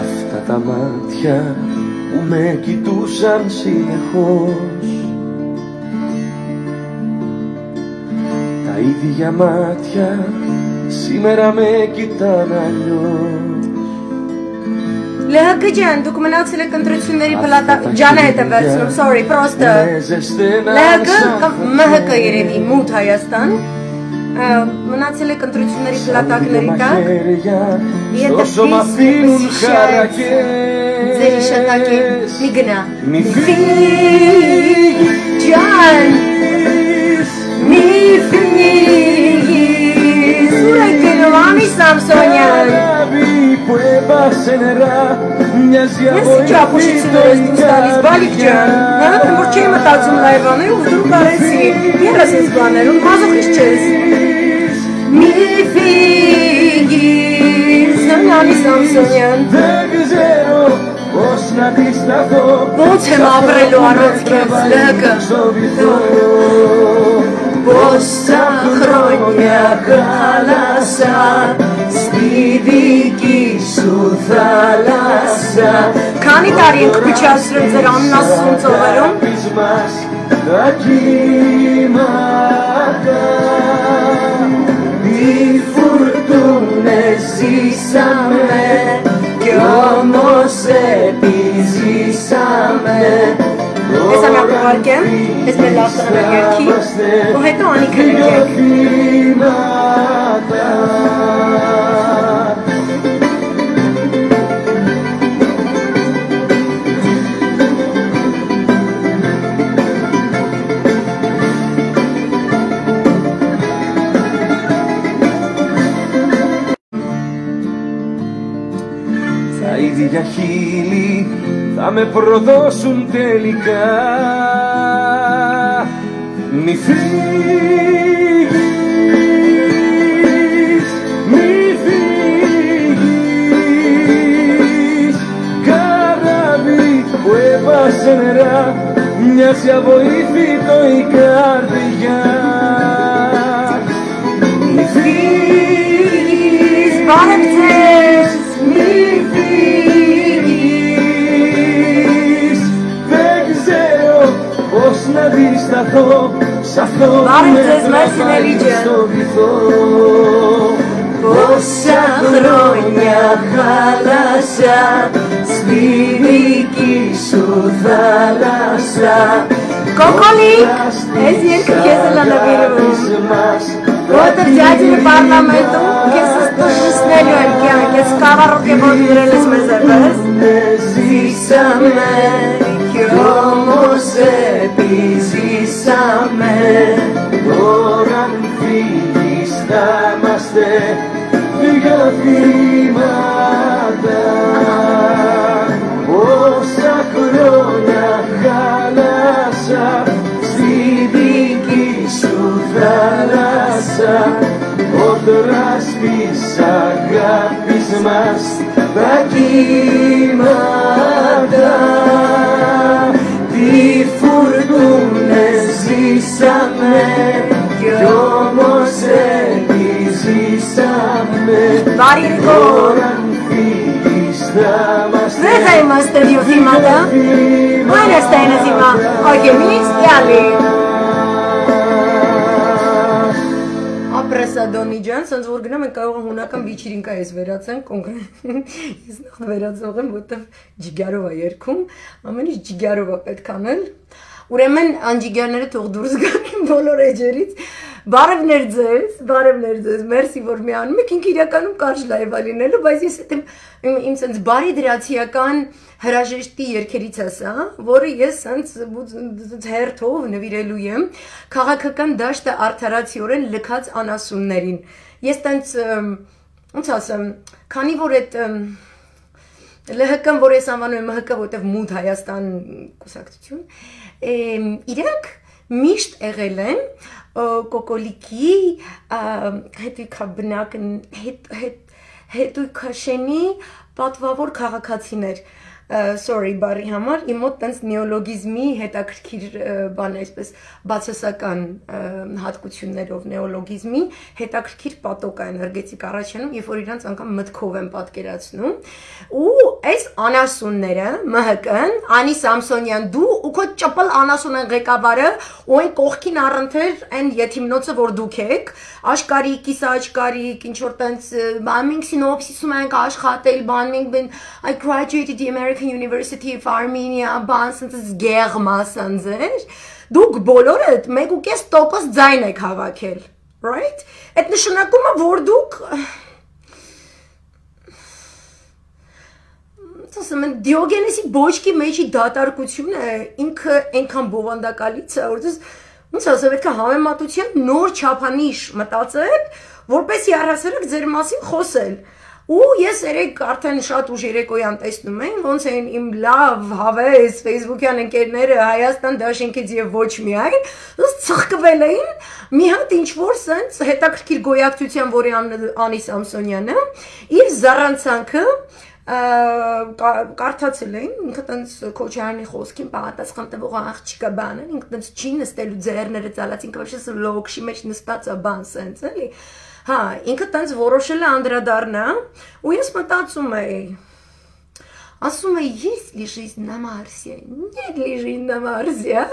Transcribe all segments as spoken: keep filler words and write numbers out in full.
Αυτά τα μάτια που με κοιτούσαν συνεχώς, τα ίδια μάτια σήμερα με κοιτάνε αλλιώς. Լեհակը ջան, դուք մնացել եք ընտրությունների պլատա ջանը հետ եմ վերցնում, sorry, պրոստը Լեհակը մհկը երևի մութ Հայաստան մնացել եք ընտրությունների պլատակների տակ Եթե պիս ձեր իշատակի մի գնա Մի ֆիգ ջան Մի ֆիգ Սուր եք գնում ամի Սամսոնյան Ես իջա պուշիցիներ ես դուս տալիս, բալիք ջան, նավետն որ չէի մտածում լայվաներ ու դուր կարեցի, երաս ես բաներ, ու մազոխիս չես Մի ֆիգիր, Սոնյանի Սամսոնյան Ոնց եմ ապրելու առանց քեզ, լհկը Բոսա խրոնյա կալասա Քանի տարի ենք փչացրել ձեր աննասուն ծովերում Ես ամյակ ուղարկեմ, ես մեր լավ տնանակ երկի ու հետո անիքը նկեք Τα ίδια χείλη θα με προδώσουν τελικά Μη φύγεις, μη φύγεις Καράβι που έβασε νερά μοιάζει αβοήθητο η καρδιά Μη φύγεις, Πάρεψες, μη φύγεις Δεν ξέρω πώς να αντισταθώ σ' αυτό που με έβαλες στο βυθό Πόσα χρόνια χάλασα στη δική σου θάλασσα Կոկոլիկ, ես երկը քեզ էլ անավիրում Որտեղ ջաջին պարլամենտում քեզ ստուշնելու եմ կյանք Ես կավառոք է որ դրել ես մեզ էպես Ζήσαμε κι όμως επιζήσαμε Τώρα αν φύγεις θα είμαστε λίγα θύματα Πόσα χρόνια χάλασα στη δική σου θάλασσα Κόντρα στις αγάπης μας τα κύματα Τι φουρτούνες ζήσαμε κι όμως επιζήσαμε Τώρα αν φύγεις θα είμαστε Δεν θα είμαστε δύο θύματα Ο ένας θα είναι θύμα Όχι εμείς οι άλλοι Ապրեսադոնի ջան, սենց որ գնամ ենք կարող հունական բիչիրինկա ես վերացան, կոնկրետ ես նախ վերացող եմ, որտև ջիգարով է երգում, ամեն ինչ ջիգարով է պետք անել, ուրեմն անջիգարները թող դուրս գան բոլոր էջերից, բարևներ ձեզ, բարևներ ձեզ, մերսի որ մի անում եք, ինք իրականում կարճ լայվ է լինելու, բայց ես հետ իմ սենց բարի դրացիական հրաժեշտի երկերից ասա, որը ես սենց հերթով նվիրելու եմ քաղաքական դաշտը արդարացիորեն լքած անասուններին։ Ես տենց, ոնց ասեմ, քանի որ այդ ԼՀԿ-ն, որ ես անվանում եմ ՄՀԿ, որտեղ մութ Հայաստան կուսակցություն, իրանք միշտ եղել են կոկոլիկի հետույքաբնակ հետույքաշենի պատվավոր քաղաքացիներ sorry, բարի համար, իմ մոտ տենց նեոլոգիզմի հետաքրքիր բան է, այսպես բացասական հատկություններով նեոլոգիզմի հետաքրքիր պատոկ է էներգետիկ առաջանում, երբ որ իրանց անգամ մտքով են պատկերացնում, ու այս անասունները, M H K-ն, Անի Սամսոնյան, դու ու քո ճպլ անասունն ղեկավարը, ու այն կողքին առընթեր այն եթիմնոցը, որ դուք եք, աշկարիկ, կիսա աշկարիկ, ինչ որ տենց մենք սինոպսիսում ենք աշխատել, բան մենք I graduated the American University of Armenia, բան սենց գեղմա սանձեր, դուք բոլորը մեկ ու կես տոկոս ձայն եք հավաքել, right? Այդ նշանակում է, որ դուք ասում են Դիոգենեսի բոճկի մեջի դատարկությունը ինքը այնքան բովանդակալից է, որ ոնց ասեմ, պետք է համեմատության նոր չափանիշ մտածել, որպեսզի առհասարակ ձեր մասին խոսել։ Ու ես երեք արդեն շատ ուժ երեկոյան տեսնում եմ, ոնց են իմ լավ հավես Facebook-յան ընկերները Հայաստան դաշինքից եւ ոչ միայն, ըստ ցխկվել էին, մի հատ ինչ որ սենց հետաքրքիր գոյակցության, որի Անի Սամսոնյանը, իր զառանցանքը կարդացել էին, ինքը տենց Քոչարյանի խոսքին պատասխան տվող աղջիկա բան են, ինքը տենց չի նստելու ձեռները ծալած, ինքը вообще լոքշի մեջ նստած է բան սենց, էլի։ Հա, ինքը տենց որոշել է անդրադառնա, ու ես մտածում էի, ասում էի, есть ли жизнь на Марсе, нет ли жизнь на Марсе,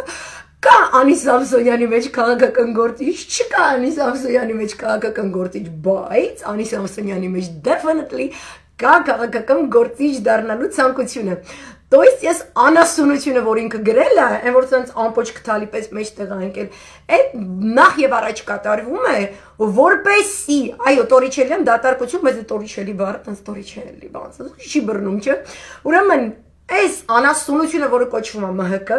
կա Անի Սամսոնյանի մեջ քաղաքական գործիչ, չկա Անի Սամսոնյանի մեջ քաղաքական գործիչ, բայց Անի Սամսոնյանի մեջ definitely կա քաղաքական գործիչ դառնալու ցանկությունը։ То есть ես անասունությունը, որ ինքը գրել է, այն որ ցած ամպոչ քթալի պես մեջտեղ անկել, այդ նախ եւ առաջ կատարվում է, որպեսի, այո, Տորիչելյան դատարկություն, բայց Տորիչելի բառը տենց Տորիչելի բան, չի բռնում, չէ։ Ուրեմն, այս անասունությունը, որը կոչվում է M H K,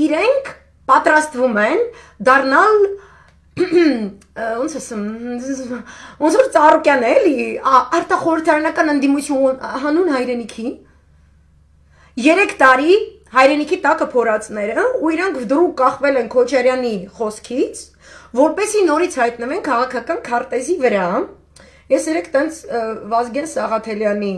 իրենք պատրաստվում են դառնալ ոնց ասեմ, ոնց որ Ծառուկյան է, էլի, արտախորհրդարանական ընդդիմություն հանուն հայրենիքի, երեք տարի հայրենիքի տակը փորածները, ու իրանք վդրուկ կախվել են Քոչարյանի խոսքից, որպեսի նորից հայտնվեն քաղաքական քարտեզի վրա։ Ես երեք տենց Վազգեն Սաղաթելյանի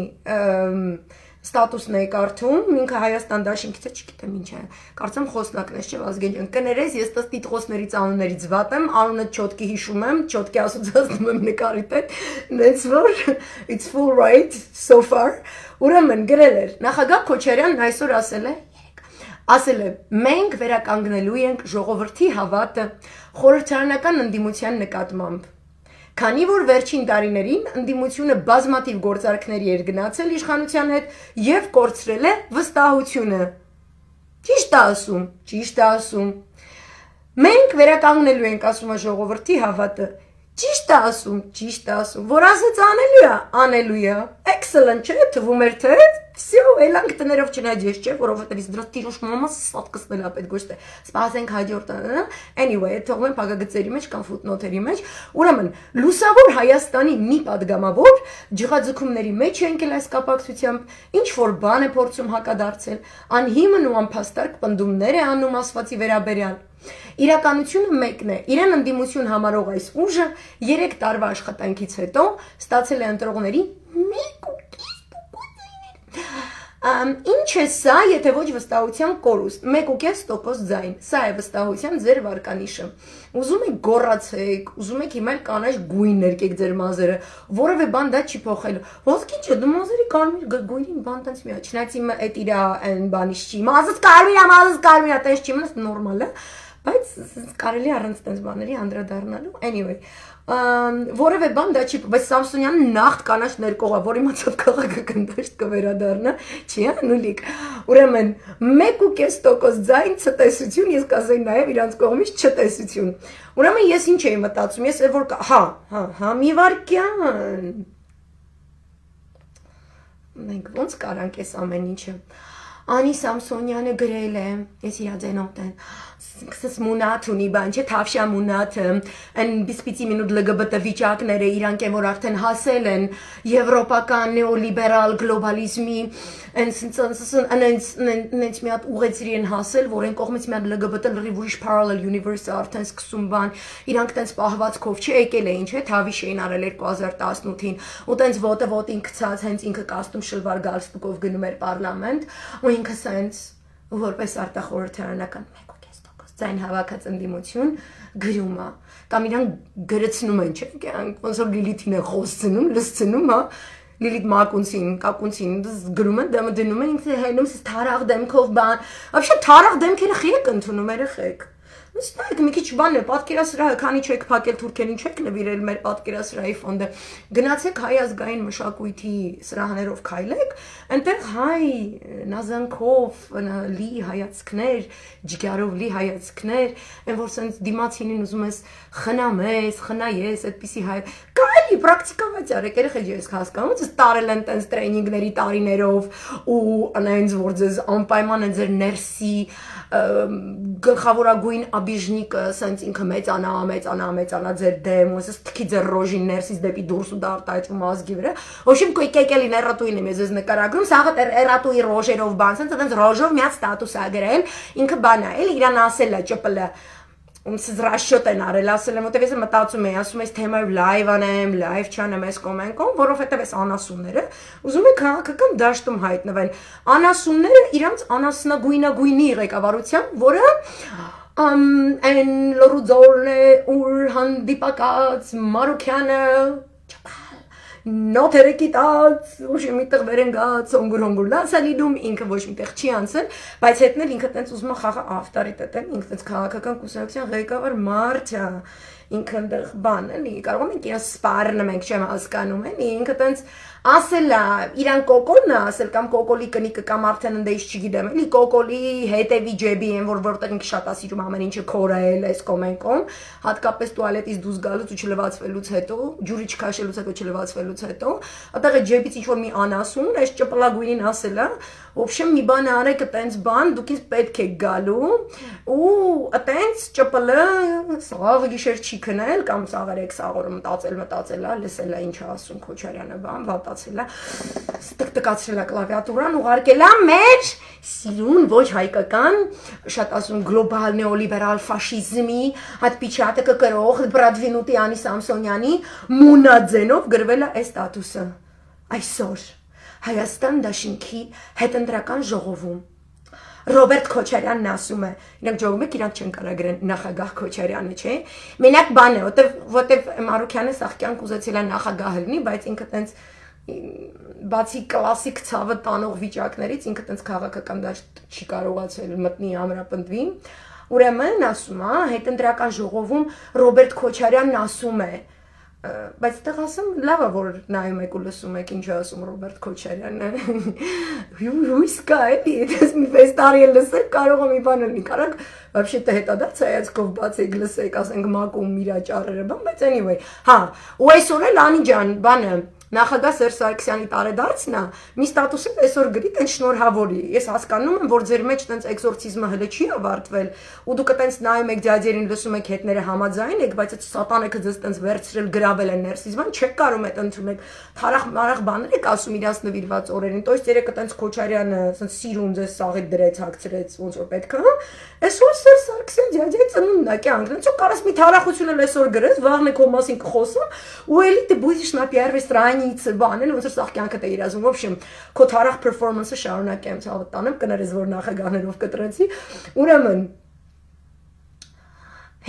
ստատուսն էի կարդում, ինքը Հայաստան դաշինքից է, չգիտեմ ինչ է, կարծեմ խոսնակն է, չէ, Վազգեն ջան, կներես, ես տս տիտղոսներից անուններից վատ եմ, անունը չոտկի հիշում եմ, չոտկի ասոցացնում եմ նկարի հետ, նենց որ, it's full right, so far, ուրեմն գրել էր, նախագահ Քոչարյանն այսօր ասել է, ասել է, մենք վերականգնելու ենք ժողովրդի հավատը խորհրդարանական ընդդիմության նկատմամբ։ Քանի որ վերջին տարիներին ընդդիմությունը բազմաթիվ գործարքների էր գնացել իշխանության հետ եւ կորցրել է վստահությունը։ Ճիշտ է ասում, ճիշտ է ասում։ Մենք վերականգնելու ենք, ասում է ժողովրդի հավատը։ Ճիշտ է ասում, ճիշտ է ասում, որ ասած անելու է, անելու է։ Excellent, չէ՞, թվում էր թե всё, էլանք տներով չնայես, չէ՞, որովհետեւ դրա տիրուշ մամաս սատկսնել է պետք ոչ թե։ Սպասենք հաջորդ, anyway, թողնեմ փակագծերի մեջ կամ ֆուտնոթերի մեջ։ Ուրեմն, լուսավոր Հայաստանի մի падգամավոր ջղաձգումների մեջ է ընկել այս կապակցությամբ, ինչ որ բան է փորձում հակադարձել, անհիմն ու անփաստարկ պնդումներ է անում ասվածի վերաբերյալ։ Իրականությունը մեկն է, իրեն ընդդիմություն համարող այս ուժը երեք տարվա աշխատանքից հետո ստացել է ընտրողների մեկ ու կես Ինչ է սա, եթե ոչ վստահության կորուստ, մեկ ու կես տոկոս ձայն, սա է վստահության ձեր վարկանիշը, ուզում եք գոռացեք, ուզում եք հիմա կանաչ գույն ներկեք ձեր մազերը, որևէ բան դա չի փոխելու, ոսկի չէ, դու մազերի կարմիր գույնին բան տենց միա, չնայած իմը այդ իրա այն բանից չի, մազս կարմիր է, մազս կարմիր է, տես չի մնաս նորմալ է, բայց կարելի առանց տենց բաների անդրադառնալու, anyway, որևէ բան դա չի, բայց Սամսոնյանը նախտ կանաչ ներկողա, որ իմացավ քաղաքական դաշտ կվերադառնա, չի անուլիկ, ուրեմն մեկ ու կես տոկոս ձայն ցտեսություն, ես կասեի նաև իրանց կողմից չտեսություն, ուրեմն ես ինչ էի մտածում, ես որ, հա, հա, հա, մի վարկյան, մենք ոնց կարանք ես ամեն ինչը, Անի Սամսոնյանը գրել է, ես իրա ձենով տեն, սկսս մունատ ունի բան չէ, թավշա մունաթը, են բիսպիցի մինուտ լգբտ վիճակները իրանք են, որ արդեն հասել են եվրոպական նեոլիբերալ գլոբալիզմի, նենց մի հատ ուղեցրի են հասել, որ են կողմից մի հատ լգբտ լրիվ ուրիշ parallel universe-ը արդեն սկսում բան, իրանք տենց պահվածքով չէ, եկել էին, չէ, թավիշ էին արել երկու հազար տասնութին, ու տենց ոտը ոտին գցած, հենց ինքը կաստում շլվար գալստուկով գնում էր պարլամենտ, ու ինքը սենց որպես արտախորհրդարանական մեկ ու կես տոկոս ձայն հավաքած ընդդիմություն գրում է, կամ իրան գրեցնում են, չէ, ոնց որ Լիլիթին է խոսցնում, լսցնում, հա, Լիլիթ մակունցին, կակունցին գրում են, դեմը դնում են, ինքը հենում սես թարաղ դեմքով բան, вообще թարաղ դեմքերը խիեք ընդունում երեխեք, Ստայք մի քիչ բան է, պատկերասրահը, քանի չեք փակել թուրքերին չեք նվիրել մեր պատկերասրահի ֆոնդը, գնացեք հայ ազգային մշակույթի սրահներով քայլեք, այնտեղ հայ նազանքով լի հայացքներ, ջգարով լի հայացքներ, այն որ սենց դիմացինին ուզում ես խնամես, խնայես, այդպիսի հայ, կարելի պրակտիկավաց արեք, երեխեք ես հասկանում, ձեզ տարել են տենց տրեյնինգների տարիներով ու անայնց որ ձեզ անպայման են ձեր ներսի գլխավորագույն աբիժնիկը սենց ինքը մեծանա, մեծանա, մեծանա ձեր դեմ, ու ասես թքի ձեր ռոժին ներսից դեպի դուրս ու դարտայճում ազգի վրա, ոչինչ կոյկեկելին էրատուին եմ ես նկարագրում, սաղը էրատուի ռոժերով բան, սենց այդպես ռոժով մի հատ ստատուս ա գրել, ինքը բան ա, էլ իրան ասել ա, ճպլը, ոնց ռաշոտ են արել, ասել եմ, որտեվ ես մտածում եմ, ասում ես թեմայով լայվ անեմ, լայվ չանեմ այս կոմենկոմ, որովհետև այս անասունները ուզում են քաղաքական դաշտում հայտնվեն։ Անասունները իրանց անասնագույնագույնի ղեկավարությամբ, որը այն լրուձորն է, ուր հանդիպակաց Մարուքյանը նոթերը կիտած, ոչ միտեղ վերենգած, ոնգուր հոնգուր լացա լինում, ինքը ոչ միտեղ չի անցել, բայց հետն էլ ինքը տենց ուզում է խաղը ավտորիտետ է, ինքը տենց քաղաքական կուսակցության ղեկավար մարդ է, ինքը այնտեղ բան էլի, կարող ենք իրան սպառնը մենք չեմ հասկանում էլի, ինքը տենց ասել է, իրան կոկոլն է ասել, կամ կոկոլի կնիկը, կամ արդեն ընդեից չգիտեմ, էլի կոկոլի հետևի ջեբի են, որ որտեղ ինքը շատ ասիրում ամեն ինչը քորել այս կոմենկոմ, հատկապես տուալետից դուրս գալուց ու չլվացվելուց հետո, ջուրի չքաշելուց հետո չլվացվելուց հետո, այդտեղ է ջեբից ինչ-որ մի անասուն, այս ճպլագույնին ասել է, ոբշեմ մի բան արեք տենց բան, դուք ինձ պետք է գալու, ու տենց ճպլը սաղը գիշեր չի քնել, կամ սաղերեք սաղորը մտածել, մտածել է, լսել է ինչ ասում Քոչարյանը բան, վատացել է, տկտկացրել է կլավիատուրան, ուղարկել է մեր սիրուն, ոչ հայկական, շատ ասում գլոբալ նեոլիբերալ ֆաշիզմի, հատ պիչատը կկրող, բրադվինուտի Անի Սամսոնյանի մունաձենով գրվել է այս ստատուսը, այսօր Հայաստան դաշինքի հետընտրական ժողովում Ռոբերտ Քոչարյանն ասում է, իրանք ժողովում եք, իրանք չեն կարա գրեն նախագահ Քոչարյանը, չէ, մենակ բան է, որտև Մարուքյանը սաղ կյանք ուզեցել է նախագահ լինի, բայց ինքը տենց բացի կլասիկ ցավը տանող վիճակներից, ինքը տենց քաղաքական դաշտ չի կարողացել մտնի ամրապնդվի, ուրեմն ասում է, հետընտրական ժողովում Ռոբերտ Քոչարյանն ասում է, բայց այդտեղ ասում լավ է որ նայում եք ու լսում եք ինչ ասում Ռոբերտ Քոչարյանը հույս կա էլի դες մի վեց տարի լսեք կարող է մի բան լինի կարակ вообще-то հետադարձ հայացքով բացեք լսեք ասենք մակում իրա ճառերը բան բայց anyway հա ու այսօր էլ Անի ջան բանը Նախագահ Սերժ Սարգսյանի տարեդարձն է, մի ստատուսի այսօր գրի տենց շնորհավորի։ Ես հասկանում եմ, որ ձեր մեջ տենց էքզորցիզմը հələ չի ավարտվել, ու դուք տենց նայում եք ձյաձերին, լսում եք հետները համաձայն եք, բայց այդ սատանեքը ձեզ տենց վերցրել գրավել են ներսից, բան չեք կարող այդ ընդունել։ Թարախ մարախ բաներ եք ասում իրանց նվիրված օրերին, տոյս երեկը տենց Քոչարյանը տենց սիրուն ձեզ սաղի դրեց, հագցրեց, ոնց որ պետք է, հա։ Այսօր Սերժ Սարգսյան ձյաձի ծնունդն է կյանք, դրանց կարաս մի թարախություն էլ այսօր գրես, վաղն է քո մասին կխոսում, ու էլի ты будешь на первой странице բանել, ոնց որ սաղ կյանքը դե իրազում, в общем, քո թարախ performance-ը շարունակեմ, ցավը տանեմ, կներես որ նախագահներով կտրեցի, ուրեմն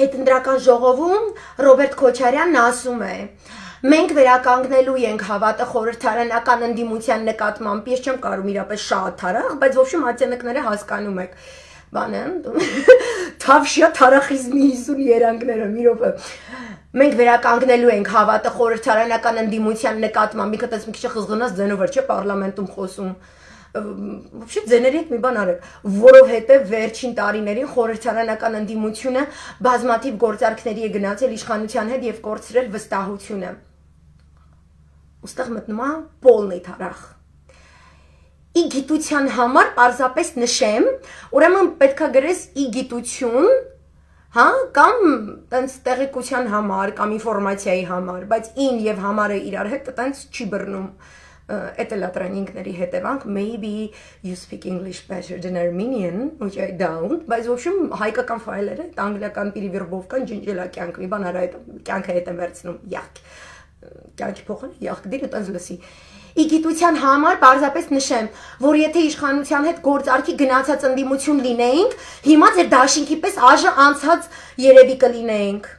հետընտրական ժողովում Ռոբերտ Քոչարյանն ասում է. Մենք վերականգնելու ենք հավատը խորհրդարանական ընդդիմության նկատմամբ, ես չեմ կարող իրապես շատ թարախ, բայց в общем ատենքները հասկանում եք։ Բանը թավշյա թարախիզմի հիսուն երանգները մի րոպե մենք վերականգնելու ենք հավատը խորհրդարանական ընդդիմության նկատմամբ մի քիչ մի քիչ խզղնած ձենով չէ պարլամենտում խոսում Вообще ձեների հետ մի բան արեք որովհետև վերջին տարիներին խորհրդարանական ընդդիմությունը բազմաթիվ գործարքների է գնացել իշխանության հետ եւ կորցրել վստահությունը ուստեղ մտնում է полный թարախ ի գիտության համար պարզապես նշեմ, ուրեմն պետք է գրես ի գիտություն, հա, կամ տենց տեղեկության համար, կամ ինֆորմացիայի համար, բայց ին եւ համարը իրար հետ տենց չի բռնում։ Это la тренингների հետևանք, maybe you speak English better than Armenian, which I don't, բայց в общем հայկական ֆայլերը, անգլիական перевербовкան ջնջելա կյանք, մի բան արա այդ կյանքը հետ եմ վերցնում, յախք, կյանքի փոխան, յախք դիր տենց լսի։ Ի գիտության համար պարզապես նշեմ, որ եթե իշխանության հետ գործարքի գնացած ընդդիմություն լինեինք, հիմա ձեր դաշինքի պես աժը անցած երևի կլինեինք։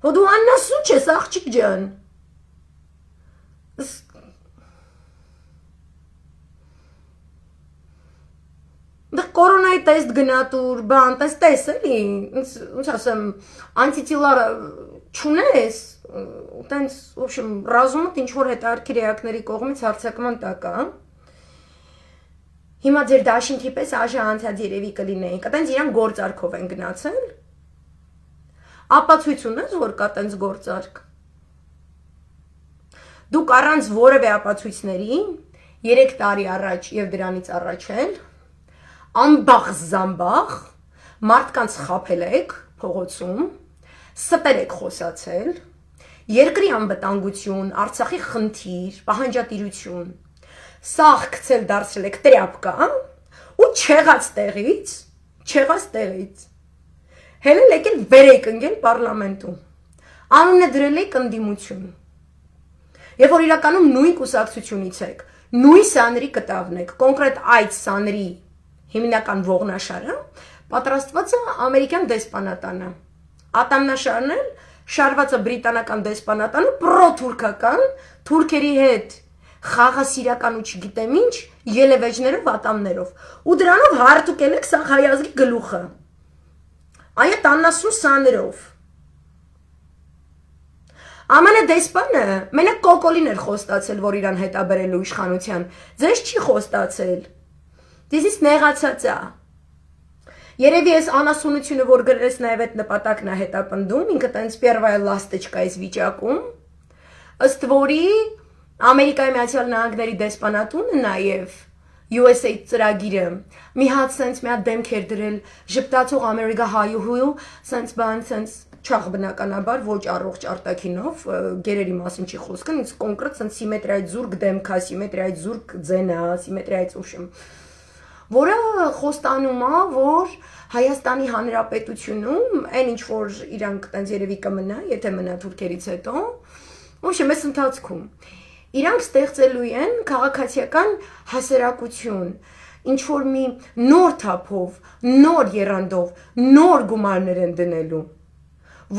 Հո դու աննասու չես, աղջիկ ջան։ Դա կորոնայի տեստ գնատուր, բան, տես տես էլի, ոնց ասեմ, անտիտիլար չունես, տենց, в общем, ռազումդ ինչ-որ հետարքիր էակների կողմից հարցակման տակ է, հիմա ձեր դաշինքի պես աժը անցած երևի կլինեինք, տենց իրան գործարքով են գնացել, ապացույց ունես, որ կա տենց գործարք, դուք առանց որևէ ապացույցների, երեք տարի առաջ և դրանից առաջ էլ, ամբախ զամբախ, մարդկանց խապել եք փողոցում, ստեր եք խոսացել, երկրի անվտանգություն, Արցախի խնդիր, պահանջատիրություն, սաղ գցել դարձրել եք տրյապկա ու չեղած տեղից, չեղած տեղից, հելել եք էլ վեր եք ընկել պարլամենտում, անունը դրել եք ընդդիմություն, և որ իրականում նույն կուսակցությունից եք, նույն սաների կտավն եք, կոնկրետ այդ սաների հիմնական ողնաշարը պատրաստված է ամերիկյան դեսպանատանը, ատամնաշարն էլ շարված է բրիտանական դեսպանատանը, պրոթուրքական, թուրքերի հետ խաղասիրական ու չգիտեմ ինչ, ելևեջներով, ատամներով, ու դրանով հարթուկել եք սաղ հայազգի գլուխը, այդ աննասուն սաներով, Ամենը դեսպանը մենակ կոկոլին էր խոստացել, որ իրան հետաբերելու իշխանության, ձեզ չի խոստացել, դեզից նեղացած է, երևի ես անասունությունը, որ գրես նաև այդ նպատակն է հետապնդում, ինքը տենց պերվայ լաստեչկա ես վիճակում, ըստ որի Ամերիկայի Միացյալ Նահանգների դեսպանատունը նաև U S A ծրագիրը մի հատ սենց մի հատ դեմք էր դրել ժպտացող Ամերիկա հայուհու, սենց բան, սենց չաղ բնականաբար, ոչ առողջ արտաքինով, գերերի մասին չի խոսքը, ինձ կոնկրետ սենց սիմետրիայից զուրկ դեմքա, սիմետրիայից զուրկ ձենա, սիմետրիայից ուշմ, որը խոստանում է, որ Հայաստանի Հանրապետությունում այն ինչ որ իրանք տենց երևի կմնա, եթե մնա թուրքերից հետո, ոչմ ես ընթացքում, իրանք ստեղծելու են քաղաքացիական հասարակություն, ինչ որ մի նոր թափով, նոր եռանդով, նոր գումարներ են դնելու,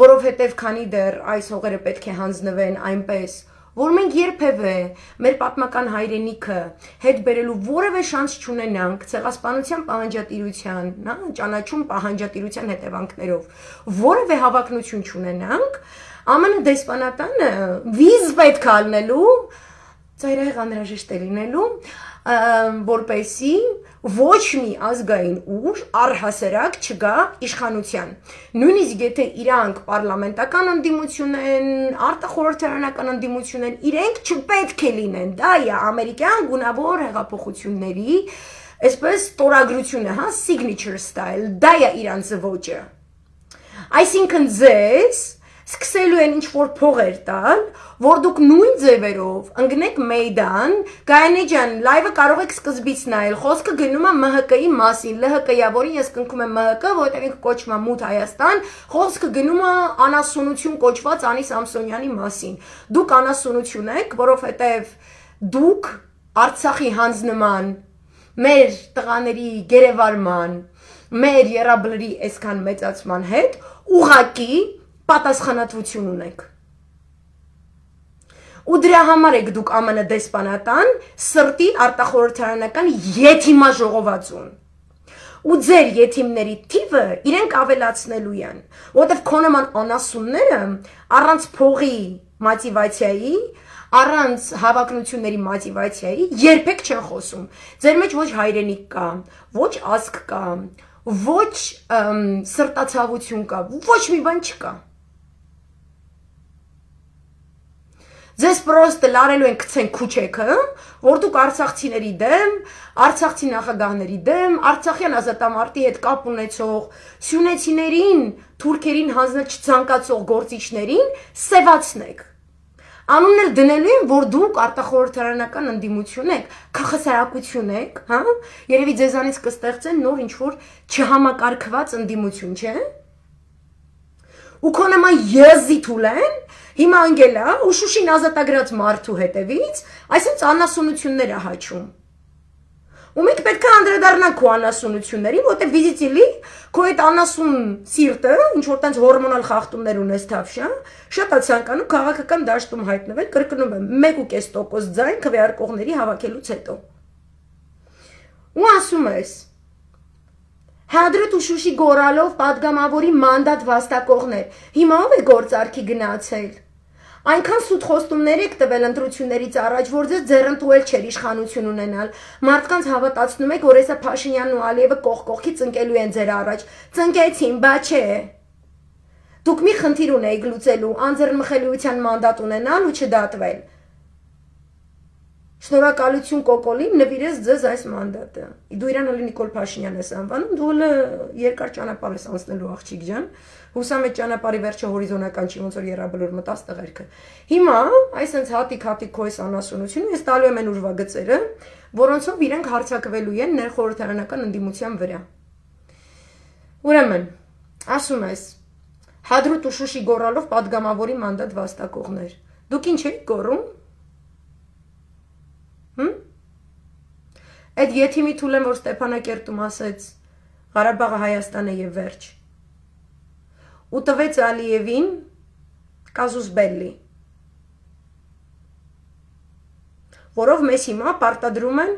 որովհետև քանի դեռ այս հողերը պետք է հանձնվեն այնպես, որ մենք երբևէ մեր պատմական հայրենիքը հետ բերելու որևէ շանս չունենանք ցեղասպանության պահանջատիրության, ճանաչում պահանջատիրության հետևանքներով, որևէ հավակնություն չունենանք, ԱՄՆ դեսպանատանը վիզ պետք է ալնելու, ծայրահեղ անհրաժեշտ է լինելու, որպեսզի ոչ մի ազգային ուժ առհասարակ չգա իշխանության։ Նույնիսկ եթե իրանք պարլամենտական ընդդիմություն են, արտախորհրդարանական ընդդիմություն են, իրենք չպետք է լինեն, դա է ամերիկյան գունավոր հեղափոխությունների, այսպես տորագրությունը, հա, signature style, դա է իրանց ոճը։ Այսինքն ձեզ սկսելու են ինչ-որ փողեր տալ, որ դուք նույն ձևերով ընգնեք մեյդան, Գայանե ջան, լայվը կարող եք սկզբից նայել, խոսքը գնում է M H K-ի մասին, L H K-յա, որին ես կնքում եմ M H K, որտեղ ինքը կոչվում է Մութ Հայաստան, խոսքը գնում է անասունություն կոչված Անի Սամսոնյանի մասին։ Դուք անասունություն եք, որովհետև դուք Արցախի հանձնման, մեր տղաների գերեվարման, մեր եռաբլրի այսքան մեծացման հետ ուղղակի պատասխանատվություն ունեք։ Ու դրա համար եք դուք ԱՄՆ դեսպանատան սրտի արտախորհրդարանական եթիմա ժողովածուն։ Ու ձեր եթիմների թիվը իրենք ավելացնելու են, որովհետև քո նման անասունները առանց փողի մոտիվացիայի, առանց հավակնությունների մոտիվացիայի երբեք չեն խոսում։ Ձեր մեջ ոչ հայրենիք կա, ոչ ազգ կա, ոչ սրտացավություն կա, ոչ մի բան չկա։ Ձեզ պրոստը լարելու են գցեն քուչեքը, որ դուք արցախցիների դեմ, արցախցի նախագահների դեմ, արցախյան ազատամարտի հետ կապ ունեցող, սյունեցիներին, թուրքերին հանձնել չցանկացող գործիչներին սևացնեք։ Անուններ դնելու են, որ դուք արտախորհրդարանական ընդդիմություն եք, քաղաքացիություն եք, հա? Երևի ձեզանից կստեղծեն նոր ինչ-որ չհամակարգված ընդդիմություն, չէ՞։ Ու քո նման եզի թուլեն հիմա անգելա ու Շուշին ազատագրած մարդու հետևից այսինքն անասունություններ է հաչում։ Ու մենք պետք է անդրադառնանք քո անասունություններին, որտեղ վիզիտիլի քո այդ անասուն սիրտը, ինչ որ տենց հորմոնալ խախտումներ ունես թավշա, շատ է ցանկանում քաղաքական դաշտում հայտնվել, կրկնում եմ, մեկ ու կես տոկոս ձայն քվեարկողների հավաքելուց հետո։ Ու ասում ես. Հադրուտ ու Շուշի գորալով падգամավորի մանդատ վաստակողներ, հիմա ով է գործարքի գնացել։ Այնքան սուտ խոստումներ եք տվել ընտրություններից առաջ, որ ձեզ ձեռնտուել չէր իշխանություն ունենալ։ Մարդկանց հավատացնում եք, որ հեսա Փաշինյանն ու Ալիևը կողք-կողքի ծնկելու են ձեր առաջ։ Ծնկեցին, բա չէ։ Դուք մի խնդիր ունեիք լուծելու, անձեռնմխելիության մանդատ ունենալ ու չդատվել։ Շնորհակալություն Կոկոլին, նվիրես ձեզ այս մանդատը։ Դու իրան էլի Նիկոլ Փաշինյան ես անվանում, դու էլ երկար ճանապարհ ես անցնելու աղջիկ ջան։ Հուսամ այդ ճանապարհի վերջը հորիզոնական չի, ոնց որ երաբլոր մտած տղերքը։ Հիմա այսպես հատիկ-հատիկ քո այս անասունությունը ես տալու եմ այն ուրվագծերը, որոնցով իրենք հարձակվելու են ներխորհրդարանական ընդդիմության վրա։ Ուրեմն, ասում ես, Հադրուտ ու Շուշի գորալով падգամավորի մանդատ վաստակողներ։ Դուք ինչ եք գոռում։ Հմ? Այդ եթիմի թուլեն, որ Ստեփանակերտում ասեց Ղարաբաղը Հայաստան է եւ վերջ։ Ու տվեց Ալիևին կազուս բելլի, որով մեզ հիմա պարտադրում են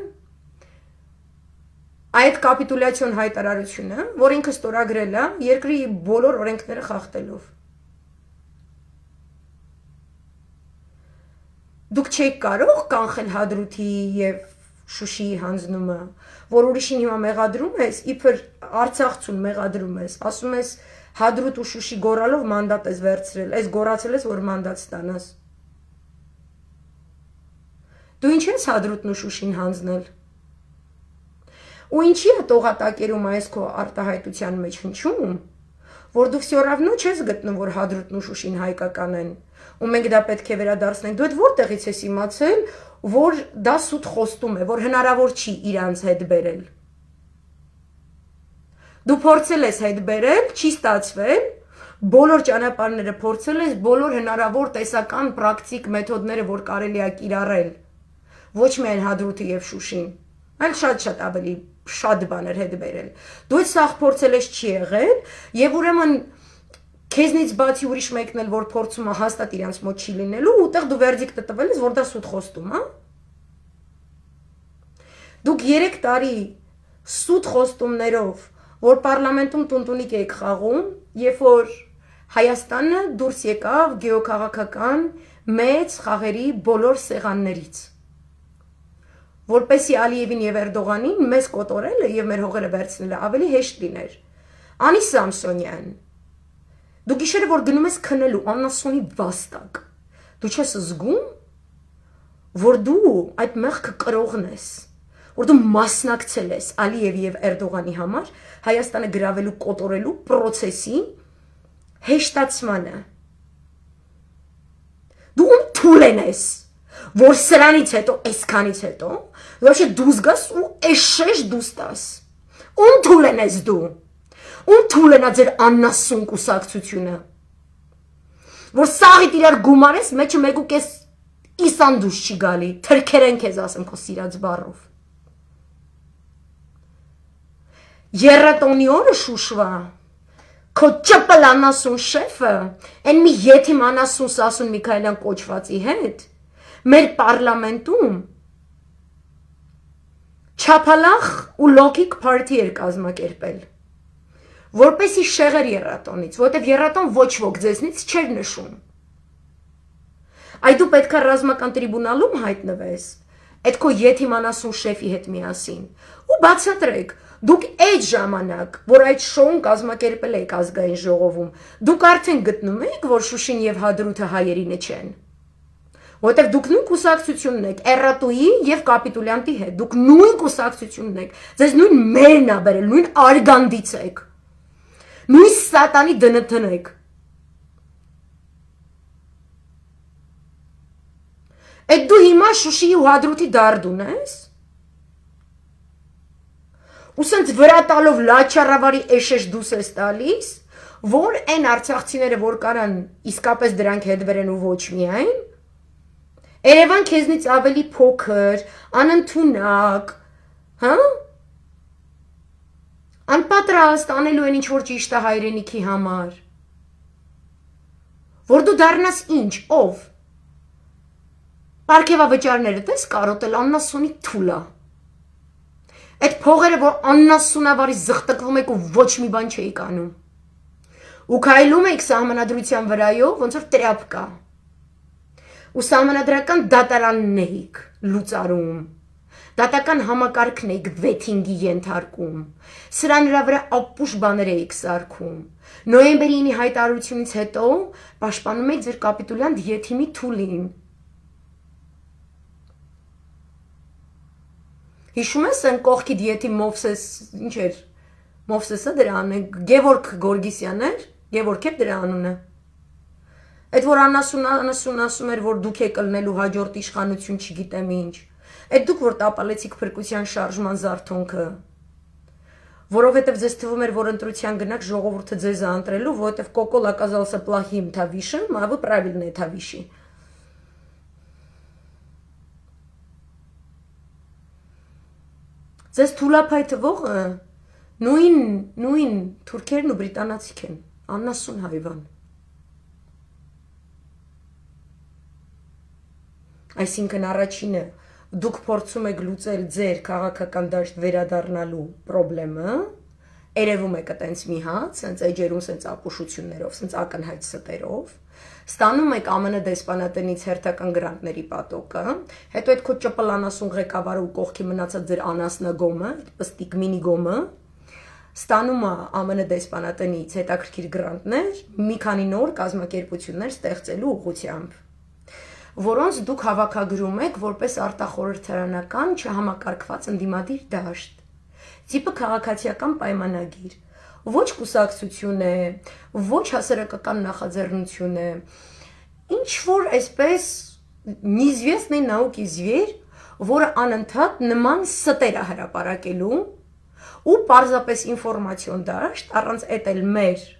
այդ կապիտուլյացիոն հայտարարությունը, որ ինքը ստորագրել է երկրի բոլոր օրենքները խախտելով։ Դուք չեք կարող կանխել Հադրութի եւ Շուշիի հանձնումը, որ ուրիշին հիմա մեղադրում ես, իբր Արցախցուն մեղադրում ես, ասում ես Հադրութ ու Շուշի գորալով մանդատ ես վերցրել, այս գորացել ես, որ մանդատ ստանաս։ Դու ինչ ես Հադրութն ու Շուշին հանձնել։ Ու ինչի է տողատակերում այս քո արտահայտության մեջ հնչում, որ դու всё равно չես գտնում, որ Հադրութն ու Շուշին հայկական են, ու մենք դա պետք է վերադարձնենք։ Դու այդ որտեղից ես իմացել, որ դա սուտ խոստում է, որ հնարավոր չի իրանց հետ բերել։ Դու փորձել ես հետ բերել, չի ստացվել, բոլոր ճանապարհները փորձել ես, բոլոր հնարավոր տեսական պրակտիկ մեթոդները, որ կարելի է կիրառել, ոչ միայն Հադրութը եւ Շուշին, այլ շատ-շատ ավելի շատ բաներ հետ բերել։ Դու այդ սաղ փորձել ես, չի եղել, եւ ուրեմն քեզնից բացի ուրիշ մեկն էլ որ փորձում է հաստատ իրանց մոտ չի լինելու, ուտեղ դու վերդիկտը տվել ես, որ դա սուտ խոստում է։ Դուք երեք տարի սուտ խոստումներով, որ պարլամենտում տունտունիկ եք խաղում, երբ որ Հայաստանը դուրս եկավ գեոքաղաքական մեծ խաղերի բոլոր սեղաններից։ Որպեսի Ալիևին եւ Էրդողանին մեզ կոտորելը եւ մեր հողերը վերցնելը ավելի հեշտ լիներ։ Անի Սամսոնյան, դու գիշերը որ գնում ես քնելու անասունի վաստակ, դու չես զգում, որ դու այդ մեղքը կրողն ես, որ դու մասնակցել ես Ալիևի եւ Էրդողանի համար Հայաստանը գրավելու կոտորելու process-ի հեշտացմանը։ Դու ում թուլեն ես, որ սրանից հետո, այսքանից հետո, вообще դուս գաս ու էշեշ դուս տաս։ Ում թուլեն ես դու։ Ում թուլենա ձեր աննասուն կուսակցությունը, որ սաղիտ իրար գումարես, մեջը մեկ ու կես իսան դուս չի գալի, թրքերեն քեզ ասեմ քո սիրած բառով։ Երրատոնի օրը Շուշվա, քո ճպլ անասուն շեֆը, այն մի եթիմ անասուն Սասուն Միքայելյան կոչվածի հետ, մեր պարլամենտում չափալախ ու լոգիկ պարտի էր կազմակերպել, որպեսի շեղեր երրատոնից, որտև երրատոն ոչ ոք ձեզնից չէր նշում։ Այ դու պետք է ռազմական տրիբունալում հայտնվես, այդ քո եթիմ անասուն շեֆի հետ միասին, ու բացատրեք, դուք այդ ժամանակ, որ այդ շոուն կազմակերպել եք ազգային ժողովում, դուք արդեն գտնում եք, որ Շուշին եւ Հադրութը հայերինը չեն։ Որտեվ դուք նույն կուսակցությունն եք, Էռատուի եւ կապիտուլյանտի հետ, դուք նույն կուսակցությունն եք, ձեզ նույն մերն ա բերել, նույն արգանդից եք, նույն սատանի դնթն եք։ Այդ դու հիմա Շուշիի ու Հադրութի դարդուն ես։ Ու սենց վրա տալով լաչարավարի էշեշ դուս ես տալիս, որ այն արցախցիները, որ կարան իսկապես դրանք հետ վերեն ու ոչ միայն, Երևան քեզնից ավելի փոքր, անընդունակ, հա? Անպատրաստ անելու են ինչ-որ ճիշտ է հայրենիքի համար։ Որ դու դառնաս ինչ, ով։ Պարգևավճարները տես կարոտել աննասունի թուլա։ Այդ փողերը, որ աննասունավարի զղտկվում եք ու ոչ մի բան չէիք անում։ Ու քայլում եք սահմանադրության վրայով, ոնց որ տրապ կա։ Ու սահմանադրական դատարանն էիք լուծարում, դատական համակարգն էիք վեթինգի ենթարկում, սրա նրա վրա ապուշ բաներ էիք սարքում, նոյեմբերի ինի հայտարարությունից հետո պաշտպանում եք ձեր կապիտուլյան եթիմի թուլին։ Հիշում ես են կողքի եթիմ Մովսես, ինչ էր, Մովսեսը դրա անունը, Գևորգ Գորգիսյան էր, Գևորգ էր դրա անունը։ Այդ որ անասուն անասուն ասում էր, որ դուք եք ըլնելու հաջորդ իշխանություն չգիտեմ ինչ, այդ դուք որ տապալեցիք փրկության շարժման զարթոնքը, որովհետև ձեզ թվում էր, որ ընտրության գնաք ժողովուրդը ձեզ է ընտրելու, որովհետև Կոկոլ оказался плохим тавишем, а вы правильные тавиши։ Ձեզ թուլափայ թվողը նույն նույն թուրքերն ու բրիտանացիք են, աննասուն հայվան։ Այսինքն առաջինը դուք փորձում եք լուծել ձեր քաղաքական դաշտ վերադառնալու խնդրը, երևում եք այտենց մի հատ, սենց էջերում սենց ապուշություններով, սենց ակնհայտ ստերով, ստանում եք ԱՄՆ դեսպանատնից հերթական գրանտների պատոկը, հետո այդ քո ճպլանասուն ղեկավարը ու կողքի մնացած ձեր անասնագոմը, պստիկ մինի գոմը, ստանում է ԱՄՆ դեսպանատնից հետաքրքիր գրանտներ, մի քանի նոր կազմակերպություններ ստեղծելու ուղղությամբ, որոնց դուք հավաքագրում եք որպես արտախորհրդարանական չհամակարգված ընդդիմադիր դաշտ, տիպը քաղաքացիական պայմանագիր, ոչ կուսակցություն է, ոչ հասարակական նախաձեռնություն է, ինչ որ այսպես неизвестный науки зверь, որը անընդհատ նման ստեր է հրապարակելու ու պարզապես ինֆորմացիոն դաշտ առանց էտել մեր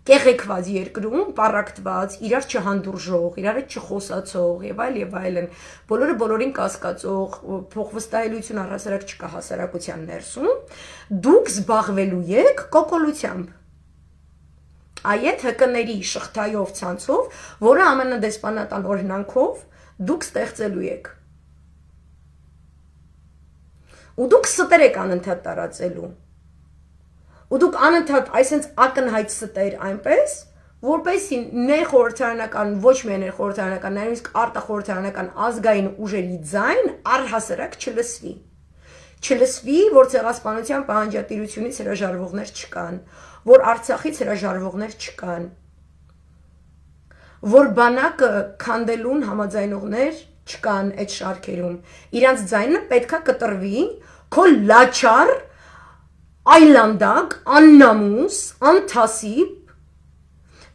կեղեքված երկրում, պարակտված, իրար չհանդուրժող, իրար հետ չխոսացող եւ այլ եւ այլն, բոլորը բոլորին կասկածող, փոխվստահելիություն առհասարակ չկա հասարակության ներսում, դուք զբաղվելու եք կոկոլությամբ։ Այդ հկների շղթայով ցանցով, որը ԱՄՆ դեսպանատան օրհնանքով դուք ստեղծելու եք։ Ու դուք ստեր եք անընդհատ տարածելու։ Ու դուք անընդհատ այսենց ակնհայտ ստեր այնպես, որպեսզի ներխորհրդարանական, ոչ միայն ներխորհրդարանական, նույնիսկ արտախորհրդարանական ազգային ուժերի ձայն առհասարակ չլսվի։ Չլսվի, որ ցեղասպանության պահանջատիրությունից հրաժարվողներ չկան, որ Արցախից հրաժարվողներ չկան, որ բանակը քանդելուն համաձայնողներ չկան այդ շարքերում։ Իրանց ձայնը պետքա կտրվի քո լաչար այլանդակ, աննամուս, անթասիբ,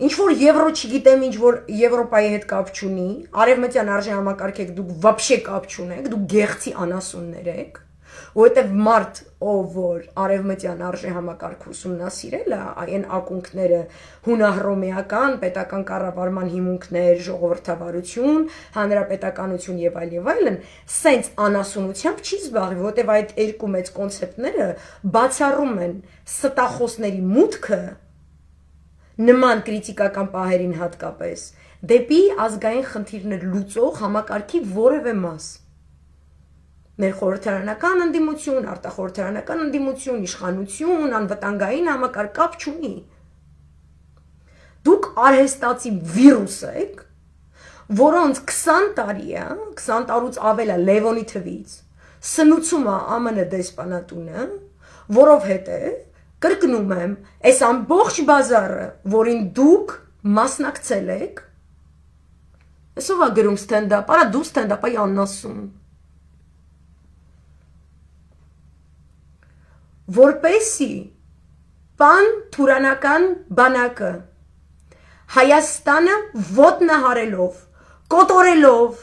ինչ որ եվրո չգիտեմ, ինչ որ Եվրոպայի հետ կապ չունի, արևմտյան արժեհամակարգ եք, դուք вообще կապ չունեք, դուք գեղցի անասուններ եք, որովհետև մարդ, ով որ արևմտյան արժեհամակարգ ուսումնասիրել է, այն ակունքները հունահռոմեական, պետական կառավարման հիմունքներ, ժողովրդավարություն, հանրապետականություն եւ այլ եւ այլն, սենց անասունությամբ չի զբաղվի, որովհետև այդ երկու մեծ կոնցեպտները բացառում են ստախոսների մուտքը նման կրիտիկական պահերին հատկապես դեպի ազգային խնդիրներ լուծող համակարգի որևէ մաս։ Ներխորհրդարանական ընդդիմություն, արտախորհրդարանական ընդդիմություն, իշխանություն, անվտանգային համակարգ կապ չունի։ Դուք արհեստացի վիրուս եք, որոնց քսան տարի է, քսան տարուց ավել է Լևոնի թվից, սնուցում է ԱՄՆ դեսպանատունը, որովհետև կրկնում եմ, այս ամբողջ բազարը, որին դուք մասնակցել եք, Այսով է գրում ստենդապ, արա դու ստենդապ այ աննասում։ Որպեսի պան թուրանական բանակը Հայաստանը ոտնահարելով, կոտորելով,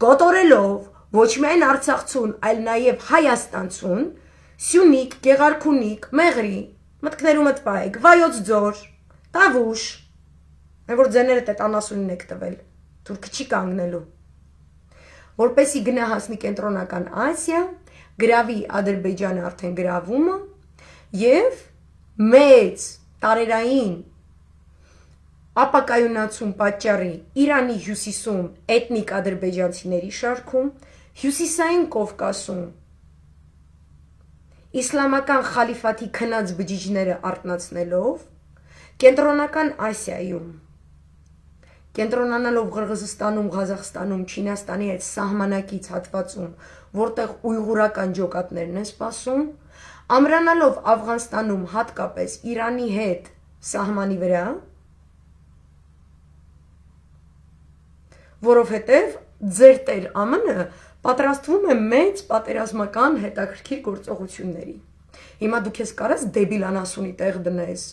կոտորելով ոչ միայն Արցախցուն, այլ նաև Հայաստանցուն, Սյունիք, Գեղարքունիք, Մեղրի, մտքներումդ պահեք, Վայոց ձոր, Տավուշ, այն որ ձեները տետանասունին եք տվել, թուրքը չի կանգնելու, որպեսի գնա հասնի կենտրոնական Ասիա, գրավի Ադրբեջանը արդեն գրավումը և մեծ տարերային ապակայունացում պատճառի Իրանի հյուսիսում էթնիկ ադրբեջանցիների շարքում, հյուսիսային Կովկասում իսլամական խալիֆաթի քնած բջիջները արտնացնելով, կենտրոնական Ասիայում, կենտրոնանալով Ղրղզստանում, Ղազախստանում, Չինաստանի հետ սահմանակից հատվածում, որտեղ ույղուրական ջոկատներն են սպասում, ամրանալով Աֆղանստանում հատկապես Իրանի հետ սահմանի վրա, որովհետև ձեր տեր ԱՄՆ-ը պատրաստվում է մեծ պատերազմական հետաքրքիր գործողությունների։ Հիմա դու քեզ կարաս դեբիլ անասունի տեղ դնես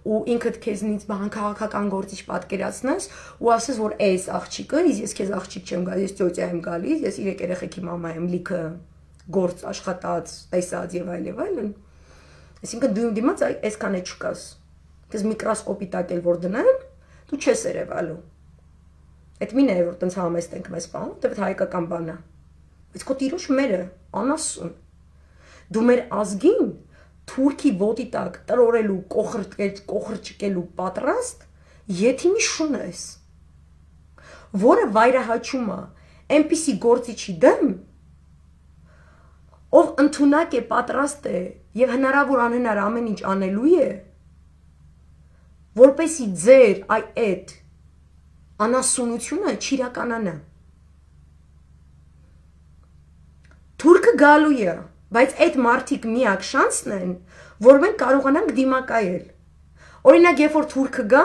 ու ինքդ քեզնից բան քաղաքական գործիչ պատկերացնես ու ասես, որ էս աղջիկը, ես քեզ աղջիկ չեմ գալիս, ես ծոցյա եմ գալիս, ես իրեք երեխեքի մամա եմ, լիքը գործ աշխատած, տեսած եւ այլ եւ այլն։ Այսինքն դու դիմաց այսքան է չկաս։ Քեզ միկրոսկոպի տակ էլ որ դնեն, դու չես երևալու։ Այդ մին է, որ տենց համեստ ենք մեզ պահում, դեպդ հայկական բան է։ Բայց քո տիրուշ մերը, անասուն։ Դու մեր ազգին թուրքի ոտի տակ տրորելու, կոխրճկելու պատրաստ եթիմի շուն ես, որը վայրահաչում է այնպիսի գործիչի դեմ, ով ընդունակ է, պատրաստ է և հնարավոր անհնար ամեն ինչ անելու է, որպեսի ձեր այդ անասունությունը չիրականանա։ Թուրքը գալու է, բայց այդ մարդիկ միակ շանսն են, որ մենք կարողանանք դիմակայել։ Օրինակ, երբ որ թուրքը գա,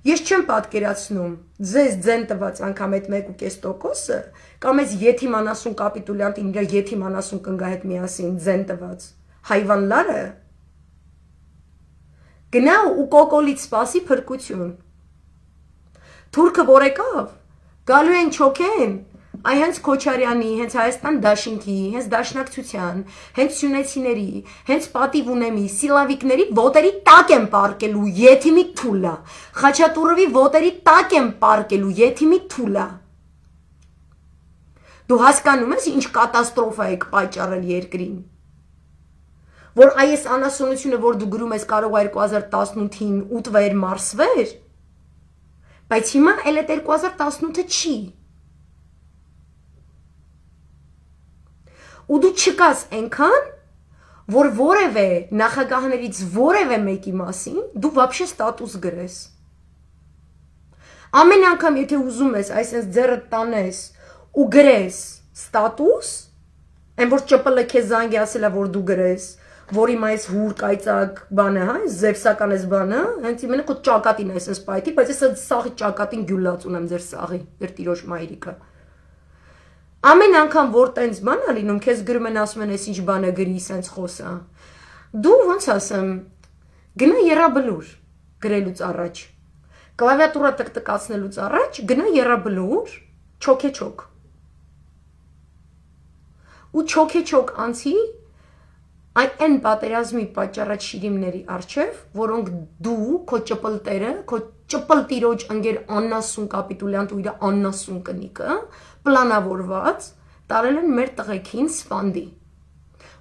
ես չեմ պատկերացնում, ձեզ ձեն տված անգամ այդ մեկ ու կես տոկոսը, կամ այս եթիմ անասուն կապիտուլյանտին իր եթիմ անասուն կնգա հետ միասին ձեն տված հայվանլարը, գնա ու կոկոլից սպասի փրկություն։ Թուրքը որ եկավ, գալու են չոքեն, այ հենց Քոչարյանի, հենց Հայաստան դաշինքի, հենց դաշնակցության, հենց սյունեցիների, հենց պատիվ ունեմի, սիլավիկների ոտերի տակ են պարկելու եթիմի թուլա, Խաչատուրովի ոտերի տակ են պարկելու եթիմի թուլա։ Դու հասկանում ես ինչ կատաստրոֆա եք պատճառել երկրին, որ այս անասունությունը, որ դու գրում ես կարող է երկու հազար տասնութին ուտվեր մարսվեր, բայց հիմա էլ այդ երկու հազար տասնութը չի։ Ու դու չկաս այնքան, որ որևէ նախագահներից որևէ մեկի մասին դու вообще ստատուս գրես։ Ամեն անգամ եթե ուզում ես այսպես ձեռդ տանես ու գրես ստատուս, այն որ ՃՊԼ քեզ զանգի ասելա որ դու գրես, որ իմ այս հուր կայծակ բանը, հա, զևսական էս բանը, հենց իմենը քո ճակատին այսպես պայթի, բայց ես այդ սաղի ճակատին գյուլած ունեմ ձեր սաղի, ձեր տիրոջ մայրիկը։ Ամեն անգամ որ տենց բան է լինում, քեզ գրում են ասում են, այս ինչ բանը գրի, սենց խոսա։ Դու ոնց ասեմ, գնա եռաբլուր գրելուց առաջ։ Կլավիատուրա տկտկացնելուց առաջ գնա եռաբլուր, չոքեչոք։ Ու չոքեչոք անցի այն պատերազմի պատճառած շիրիմների առջև, որոնք դու, քո ճպլտերը, քո ճպլ տիրոջ ընկեր աննասուն կապիտուլյանտ ու իր աննասուն կնիկը, պլանավորված տարել են մեր տղեկին սպանդի,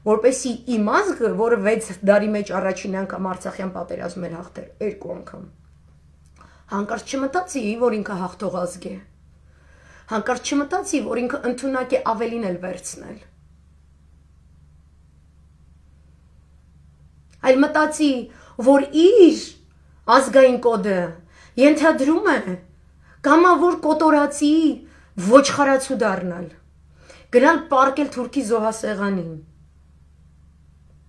որպեսի իմ ազգը, որը վեց դարի մեջ առաջին անգամ Արցախյան պատերազմ էր հաղթել, երկու անգամ, հանկարծ չմտածի, որ ինքը հաղթող ազգ է, հանկարծ չմտածի, որ ինքը ընդունակ է ավելին էլ վերցնել, այլ մտածի, որ իր ազգային կոդը ենթադրում է կամավոր կոտորածի ոչխարացու դառնալ, գնալ պարկել թուրքի զոհասեղանին,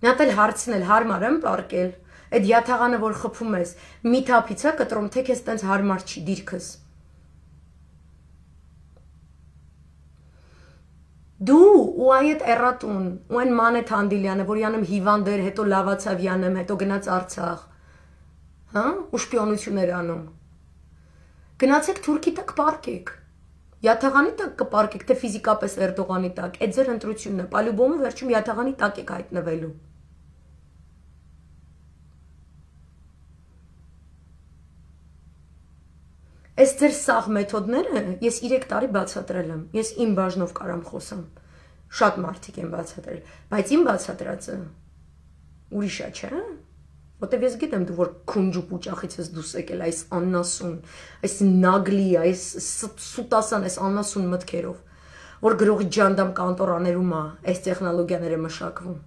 նատել հարցնել, հարմար եմ պարկել, այդ յաթաղանը, որ խփում ես, մի թափից է կտրում, թե քեզ տենց հարմար չի դիրքս, Դու ու այդ էրատուն, ու այն Մանեթ Հանդիլյանը, որ յանում հիվանդ էր, հետո լավացավ յանում, հետո գնաց Արցախ, հա, ու շպիոնություններ անում։ Գնացեք Թուրքի տակ պարկեք։ Յաթաղանի տակ կպարկեք, թե ֆիզիկապես Էրդողանի տակ, այդ ձեր ընտրությունն է, պալյուբոմը վերջում Յաթաղանի տակ եք հայտնվելու։ Այս ձեր սաղ մեթոդները ես երեք տարի բացատրել եմ, ես իմ բաժնով կարամ խոսամ, շատ մարդիկ են բացատրել, բայց իմ բացատրածը ուրիշ է, չէ՞, որտեվ ես գիտեմ դու որ քունջու պուճախից ես դուս եկել այս աննասուն, այս նագլի, այս սուտասան, այս աննասուն մտքերով, որ գրողի ջանդամ կանտորաներում է այս տեխնոլոգիաները մշակվում։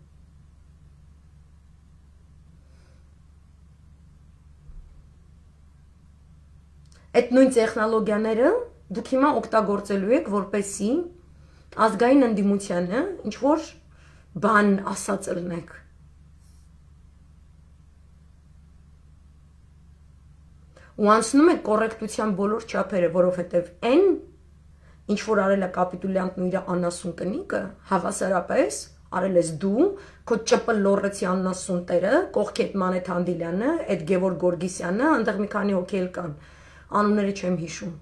Այդ նույն տեխնոլոգիաները դուք հիմա օգտագործելու եք, որպեսզի ազգային ընդդիմությանը ինչ որ բան ասած ըլնեք։ Ու անցնում եք կոռեկտության բոլոր չափերը, որովհետև այն ինչ որ արել է կապիտուլյանտն ու իր անասուն կնիկը, հավասարապես արել ես դու, քո ՃՊ լոռեցի անասուն տերը, կողքի այդ Մանեթ Հանդիլյանը, այդ Գևորգ Գորգիսյանը, այնտեղ մի քանի հոգի էլ կան, անունները չեմ հիշում։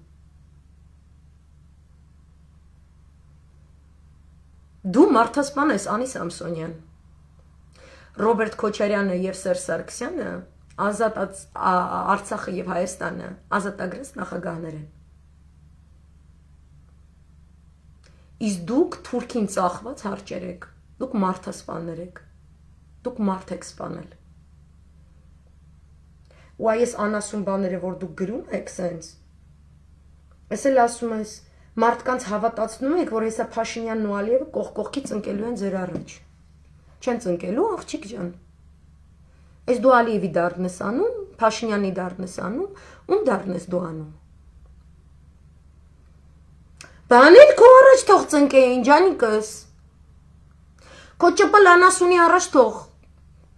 Դու մարդասպան ես Անի Սամսոնյան, Ռոբերտ Քոչարյանը եւ Սերժ Սարգսյանը, Ազատ Արցախը եւ Հայաստանը ազատագրած նախագահներ են։ Իսկ դուք Թուրքին ծախված հարճեր եք, դուք մարդասպաններ եք, դուք մարդ եք սպանել։ Ու այս անասուն բաները, որ դուք գրում եք սենց, ես էլ ասում ես, մարդկանց հավատացնում եք, որ հեսա Փաշինյանն ու Ալիևը կողք-կողքի ծնկելու են ձեր առաջ։ Չեն ծնկելու, աղջիկ ջան։ Ես դու Ալիևի դարդն ես անում, Փաշինյանի դարդն ես անում, ում դարդն ես դու անում։ Բաներ քո առաջ թող ծնկեին, ջանիկս։ Քո ճպ լանասունի առաջ թող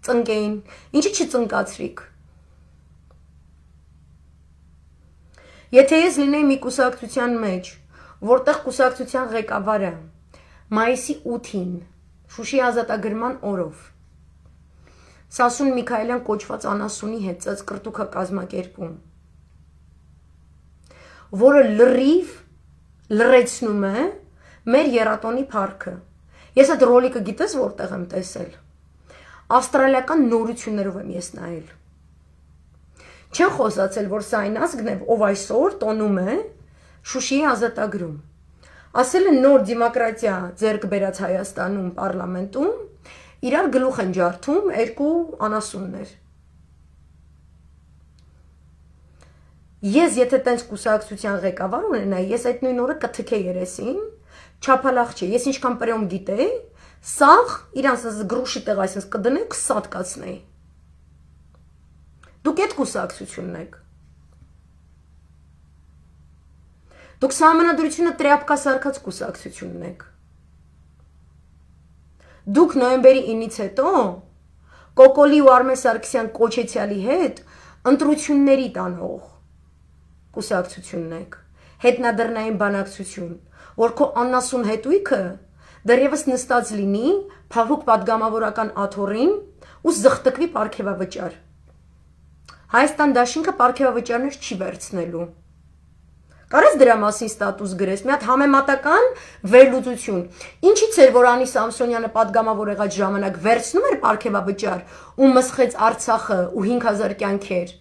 ծնկեին, ինչի չծնկացրիք։ Եթե ես լինեի մի կուսակցության մեջ, որտեղ կուսակցության ղեկավարը մայիսի ութին Շուշի ազատագրման օրով Սասուն Միքայելյան կոչված անասունի հետ ծածկրտուքը կազմակերպում, որը լրիվ լրեցնում է մեր եռատոնի փառքը։ Ես այդ ռոլիկը գիտես որտեղ եմ տեսել։ Ավստրալիական նորություններով եմ ես նայել։ Չեն խոսացել, որ սա այն ազգն է, ով այսօր տոնում է Շուշիի ազատագրում։ Ասել են նոր դեմոկրատիա ձեռք բերած Հայաստանում պարլամենտում իրար գլուխ են ջարդում երկու անասուններ։ Ես եթե տենց կուսակցության ղեկավար ունենայի, ես այդ նույն օրը կթքեի երեսին, չափալախ չէ, ես ինչքան պրիոմ գիտեի, սաղ իրանց գրուշի տեղ այսպես կդնեի, սատկացնեի։ Դուք այդ կուսակցությունն եք։ Դուք սահմանադրությունը տրյապկա սարքած կուսակցությունն եք։ Դուք նոյեմբերի ինից հետո Կոկոլի ու Արմեն Սարգսյան կոչեցյալի հետ ընտրությունների տանող կուսակցությունն եք, հետնադրնային բանակցություն, որ քո աննասուն հետույքը դեռևս նստած լինի փափուկ պատգամավորական աթոռին ու զղթկվի պարգևավճար։ Հայաստան դաշինքը պարգևավճարներ չի վերցնելու։ Կարես դրա մասին ստատուս գրես, մի հատ համեմատական վերլուծություն։ Ինչից էր, որ Անի Սամսոնյանը պատգամավոր եղած ժամանակ վերցնում էր պարգևավճար ու մսխեց Արցախը ու հինգ հազար կյանքեր։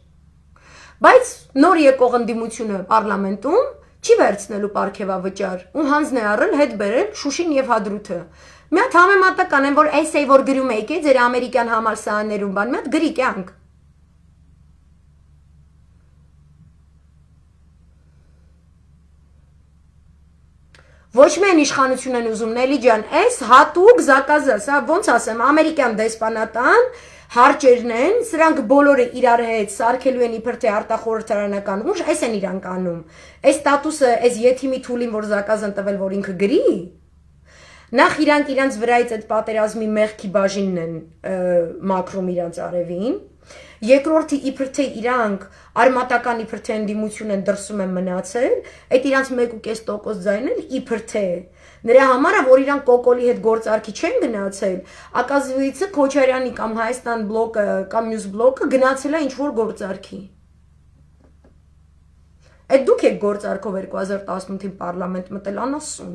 Բայց նոր եկող ընդդիմությունը պարլամենտում չի վերցնելու պարգևավճար ու հանձն է առել հետ բերել Շուշին եւ Հադրութը։ Մի հատ համեմատական են, որ էսեյ որ գրում եք, ձեր ամերիկյան համալսարաններում բան, մի հատ գրի կյանք։ Ոչ միայն իշխանություն են ուզում, Նելի ջան, այս հատուկ զակազը, սա ոնց ասեմ, ամերիկյան դեսպանատան հարճերն են, սրանք բոլորը իրար հետ սարքելու են իբր թե արտախորհրդարանական ուժ, այս են իրանք անում։ Այս ստատուսը, այս եթիմի թուլին, որ զակազ են տվել, որ ինքը գրի, նախ իրանք իրանց վրայից այդ պատերազմի մեղքի բաժինն են մաքրում իրանց արևին, երկրորդը իբր թե իրանք արմատական իբր թե ընդդիմություն են դրսում են մնացել, այդ իրանք մեկ ու կես տոկոս ձայնել իբր թե նրա համար է, որ իրանք Կոկոլի հետ գործարքի չեն գնացել, ակազվիցը Քոչարյանի կամ Հայաստան բլոկը կամ մյուս բլոկը գնացել է ինչ-որ գործարքի։ Այդ դուք եք գործարքով երկու հազար տասնութին պարլամենտ մտել անասուն։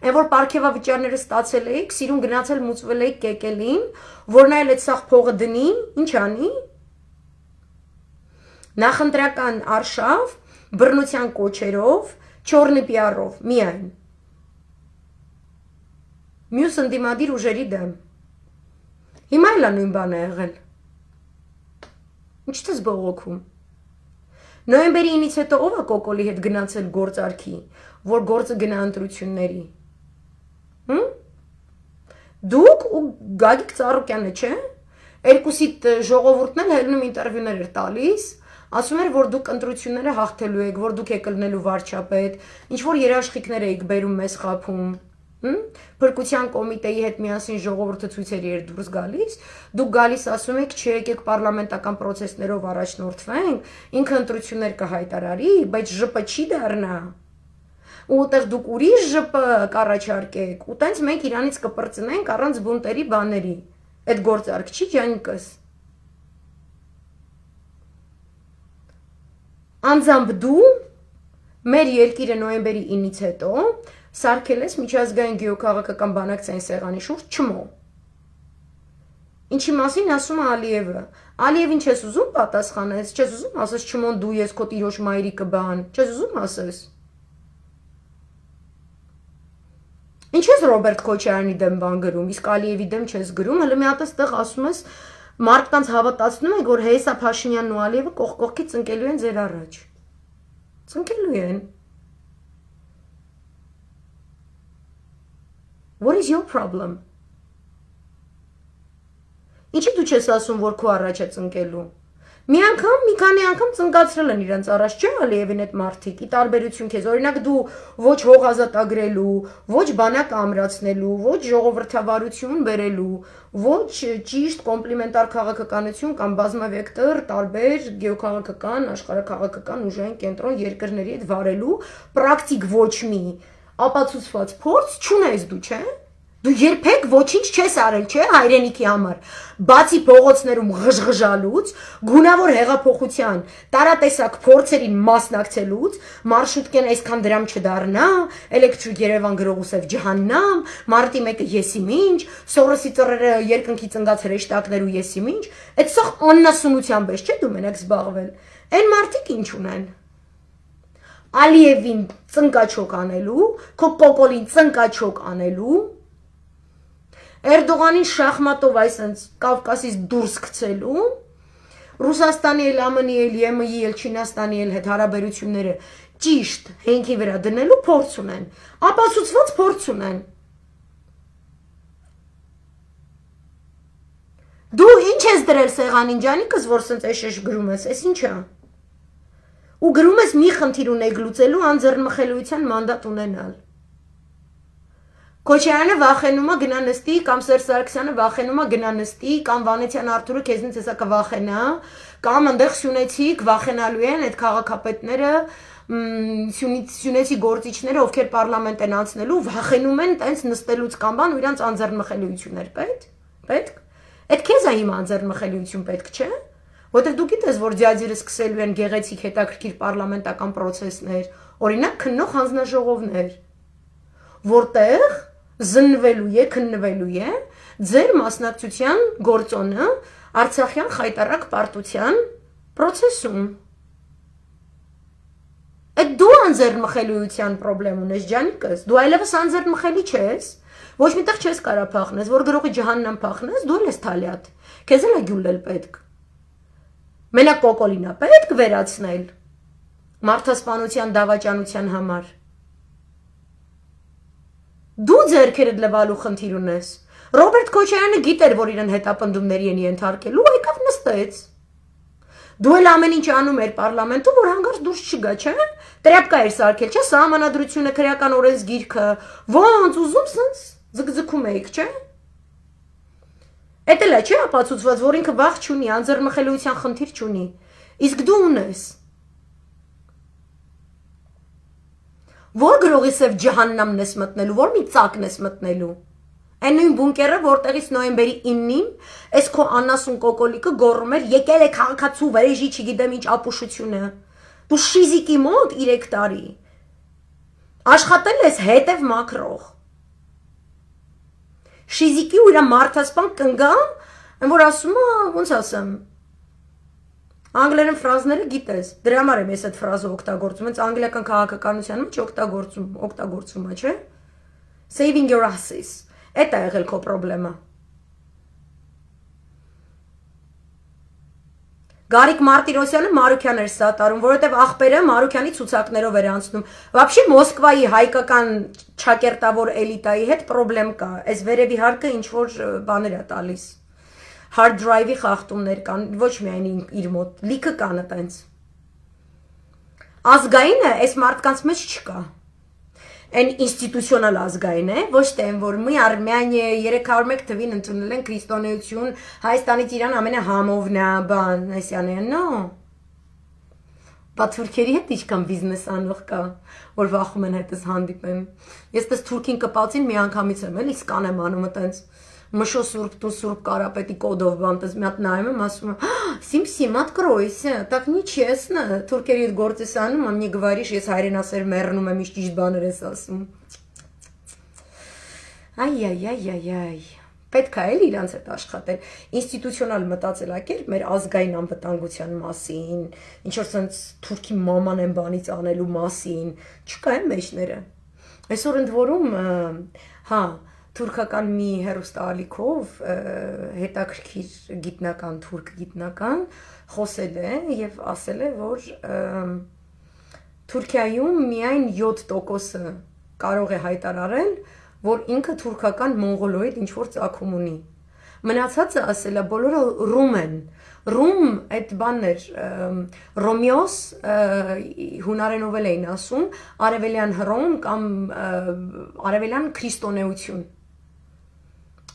Այն որ պարգևավճարները ստացել էիք, սիրուն գնացել մուծվել էիք կեկելին, որն այլ այդ սաղ փողը դնի, ինչ անի։ Նախընտրական արշավ, բռնության կոչերով, չորնի պիարով, միայն։ Մյուս ընդդիմադիր ուժերի դեմ։ Հիմա էլ նույն բան է եղել։ Ինչ դες բողոքում։ Նոյեմբերի ինից հետո ով է Կոկոլի հետ գնացել գործարքի, որ գործը գնա ընտրությունների։ Հմ? Դուք ու Գագիկ Ծառուկյանը, չէ՞։ Երկուսիդ ժողովուրդն էլ հելնում ինտերվյուներ էր տալիս, ասում էր, որ դուք ընտրությունները հաղթելու եք, որ դուք եք ելնելու վարչապետ, ինչ որ երաշխիքներ եք բերում մեզ խափում։ Փրկության կոմիտեի հետ միասին ժողովուրդը ցույցերի էր դուրս գալիս, դուք գալիս ասում եք, չէ, եկեք պարլամենտական պրոցեսներով առաջնորդվենք, ինքը ընտրություններ կհայտարարի, բայց ԺՊ չի դառնա։ Ու այդտեղ դուք ուրիշ ԺՊ կառաջարկեք, ու տենց մենք իրանից կպրծնենք առանց բունտերի բաների։ Այդ գործարք չի ջանիկս։ Անձամբ դու մեր երկիրը նոյեմբերի ինից հետո սարքել ես միջազգային գեոքաղաքական բանակցային սեղանի շուրջ չմո։ Ինչի մասին ասում է Ալիևը։ Ալիևին չես ուզում պատասխանես, չես ուզում ասես չմոն դու ես քո տիրոջ մայրիկը բան, չես ուզում ասես։ Ինչ ես Ռոբերտ Քոչարյանի դեմ բան գրում, իսկ Ալիևի դեմ չես գրում, հələ մի հատ էստեղ ասում ես մարդկանց հավատացնում եք, որ Հեսա Փաշինյանն ու Ալիևը կողք կողքի ծնկելու են ձեր առաջ։ Ծնկելու են։ What is your problem? Ինչի դու չես ասում, որ քո առաջ է ծնկելու։ Մի անգամ, մի քանի անգամ ծնկացրել են իրենց առաջ, չէ՞ Ալիևին այդ մարդիկ, ի տարբերություն քեզ, օրինակ դու ոչ հող ազատագրելու, ոչ բանակ ամրացնելու, ոչ ժողովրդավարություն բերելու, ոչ ճիշտ կոմպլիմենտար քաղաքականություն կամ բազմավեկտոր տարբեր գեոքաղաքական, աշխարհաքաղաքական ուժային կենտրոն երկրների հետ վարելու պրակտիկ ոչ մի ապացուցված փորձ չունես դու, չէ՞։ Դու երբեք ոչինչ չես արել, չէ՞, հայրենիքի համար։ Բացի փողոցներում ղժղժալուց, գունավոր հեղափոխության տարատեսակ փորձերին մասնակցելուց, մարշրուտկեն այսքան դրամ չդառնա, էլեկտրիկ Երևան գրողուսև ջահաննամ, մարտի մեկը եսի մինչ, Սորոսի ծռերը երկնքի ծնգած հրեշտակներ ու եսի մինչ, այդ սա աննասունությամբ ես, չէ՞ դու մենակ զբաղվել։ Այն մարդիկ ինչ ունեն։ Ալիևին ծնկաչոք անելու, քո Կոկոլին ծնկաչոք անելու, Էրդողանին շախմատով այսենց Կավկասից դուրս գցելու, Ռուսաստանի էլ, ԱՄՆ-ի էլ, ԵՄ-ի էլ, Չինաստանի էլ հետ հարաբերությունները ճիշտ հենքի վրա դնելու փորձ ունեն, ապացուցված փորձ ունեն։ Դու ինչ ես դրել սեղանին ջանիկս, որ սենց էշեշ գրում ես, էս ինչ է։ Ու գրում ես մի խնդիր ունեք լուծելու անձեռնմխելիության մանդատ ունենալ։ Քոչարյանը վախենում է գնա նստի, կամ Սերժ Սարգսյանը վախենում է գնա նստի, կամ Վանեցյան Արթուրը քեզնից հեսա կվախենա, կամ այնտեղ Սյունեցիք վախենալու են այդ քաղաքապետները, Սյունեցի գործիչները, ովքեր պարլամենտ են անցնելու, վախենում են տենց նստելուց կամ բան ու իրանց անձեռնմխելիություններ պետք, պետք։ Այդ քեզ է հիմա անձեռնմխելիություն պետք, չէ՞։ Որտեղ դու գիտես, որ ձյաձերը սկսելու են գեղեցիկ հետաքրքիր պարլամենտական պրոցեսներ, օրինակ քննող հանձնաժողովներ, որտեղ զննվելու է, քննվելու է ձեր մասնակցության գործոնը Արցախյան խայտարակ պարտության procesum. Այդ դու անձեռնմխելիության խնդրեմ ունես, ջանիկս, դու այլևս անձեռնմխելի չես, ոչ միտեղ չես կարա փախնես, որ գրողի ջահաննամ փախնես, դու ես թալյատ, քեզ էլ է գյուլել պետք։ Մենակ կոկոլին է պետք վերացնել մարդասպանության դավաճանության համար։ Դու ձեռքերդ լվալու խնդիր ունես։ Ռոբերտ Քոչարյանը գիտեր, որ իրեն հետապնդումների են ենթարկելու, եկավ նստեց։ Դու էլ ամեն ինչ անում էր պարլամենտում, որ հանգարց դուրս չգա, չէ՞։ Տրապկա էր սարքել, չէ՞, սահմանադրությունը, քրեական օրենսգիրքը, ոնց ուզում սենց ձգձգում էիք, չէ՞։ Էդ էլ է, չէ՞ ապացուցված, որ ինքը վախ չունի, անձեռնմխելիության խնդիր չունի։ Իսկ դու ունես։ Որ գրողի սև ջահաննամն ես մտնելու, որ մի ծակն ես մտնելու։ Այն նույն բունկերը, որտեղից նոյեմբերի իննին այս քո անասուն կոկոլիկը գոռում էր, եկել է քաղաքացու վրեժի, չգիտեմ ինչ ապուշությունը։ Դու շիզիկի մոտ երեք տարի աշխատել ես հետև մակրող։ Շիզիկի ու իր մարդասպան կնգամ, որ ասում է, ոնց ասեմ, անգլերեն ֆրազները գիտես, դրա համար եմ ես այդ ֆրազը օգտագործում, հենց անգլիական քաղաքականության մեջ օգտագործում, օգտագործում է, չէ՞։ Saving your asses։ Էդ է եղել քո պրոբլեմը։ Գարիկ Մարտիրոսյանը Մարուքյան էր սատարում, որովհետև աղբերը Մարուքյանի ցուցակներով էր անցնում։ Вообще Մոսկվայի հայկական ճակերտավոր էլիտայի հետ պրոբլեմ կա։ Այս վերևի հարկը ինչ որ բաներ է տալիս։ Hard drive-ի խախտումներ կան, ոչ միայն իր մոտ, լիքը կան այտենց։ Ազգայինը այս մարդկանց մեջ չկա։ Այն ինստիտուցիոնալ ազգային է, ոչ թե այն, որ մի Արմենիա երեք հարյուր մեկ թվին ընդունել են քրիստոնեություն, Հայաստանից Իրան ամենահամովն է, բան, այսյան է, նո։ Բա թուրքերի հետ ինչքան բիզնես անող կա, որ վախում են հետս հանդիպեմ։ Ես դες թուրքին կպացին մի անգամից եմ, էլի սկանեմ անում այտենց Մշո Սուրբ դու Սուրբ Կարապետի կոդով բանտես մի հատ նայում եմ, ասում եմ, «Сим-сим, откройся, так нечестно, թուրքերի հետ գործ ես անում, а мне говоришь, ես հայրենասեր մեռնում եմ, ինչ ճիշտ բաներ ես ասում»։ Այ-այ-այ-այ-այ։ Պետք է էլ իրանց հետ աշխատել։ Ինստիտուցիոնալ մտածելակերպ մեր ազգային անվտանգության մասին, ինչ որ sense թուրքի մաման են բանից անելու մասին, չկա այն մեջները։ Այսօր ընդ որում, հա, թուրքական մի հեռուստաալիքով հետաքրքիր գիտնական, թուրք գիտնական խոսել է եւ ասել է, որ Թուրքիայում միայն յոթ տոկոսը կարող է հայտարարել, որ ինքը թուրքական մոնղոլոիդ ինչ որ ծագում ունի։ Մնացածը ասել է բոլորը ռում են։ Ռում այդ բանն էր Ռոմեոս հունարենով էին ասում, արևելյան հռոմ կամ արևելյան քրիստոնեություն։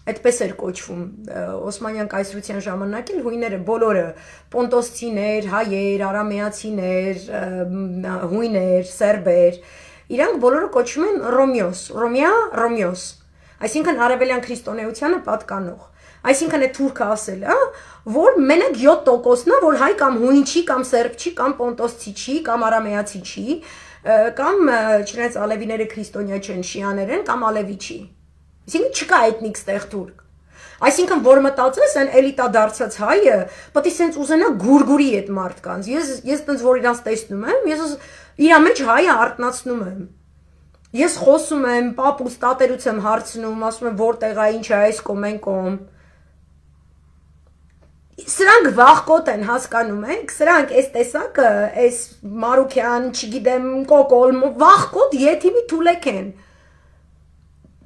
Այդպես էր կոչվում Օսմանյան կայսրության ժամանակ էլ հույները բոլորը պոնտոսցիներ, հայեր, արամեացիներ, հույներ, սերբեր, իրանք բոլորը կոչվում են Ռոմեոս, Ռոմեա, Ռոմեոս, այսինքն արևելյան քրիստոնեությանը պատկանող։ Այսինքն այդ թուրքը ասել է, որ մենակ յոթ տոկոսն է, որ հայ կամ հույն չի, կամ սերբ չի, կամ պոնտոսցի չի, կամ արամեացի չի, կամ չնայած ալևիները քրիստոնյա չեն, շիաներ են, կամ ալևի չի։ Այսինքն չկա էթնիկ ստեղ թուրք։ Այսինքն որ մտածես այն էլիտա դարձած հայը, պետք է սենց ուզենա գուրգուրի այդ մարդկանց։ Ես ես տենց որ իրանց տեսնում եմ, ես իրա մեջ հայը արտնացնում եմ։ Ես խոսում եմ, պապուս տատերուց եմ հարցնում, ասում եմ որտեղ է, ինչ է այս կոմ են կոմ։ Սրանք վախկոտ են, հասկանում եք, սրանք այս տեսակը, այս Մարուքյան, չգիտեմ, կոկոլ, վախկոտ եթիմի թուլեք են։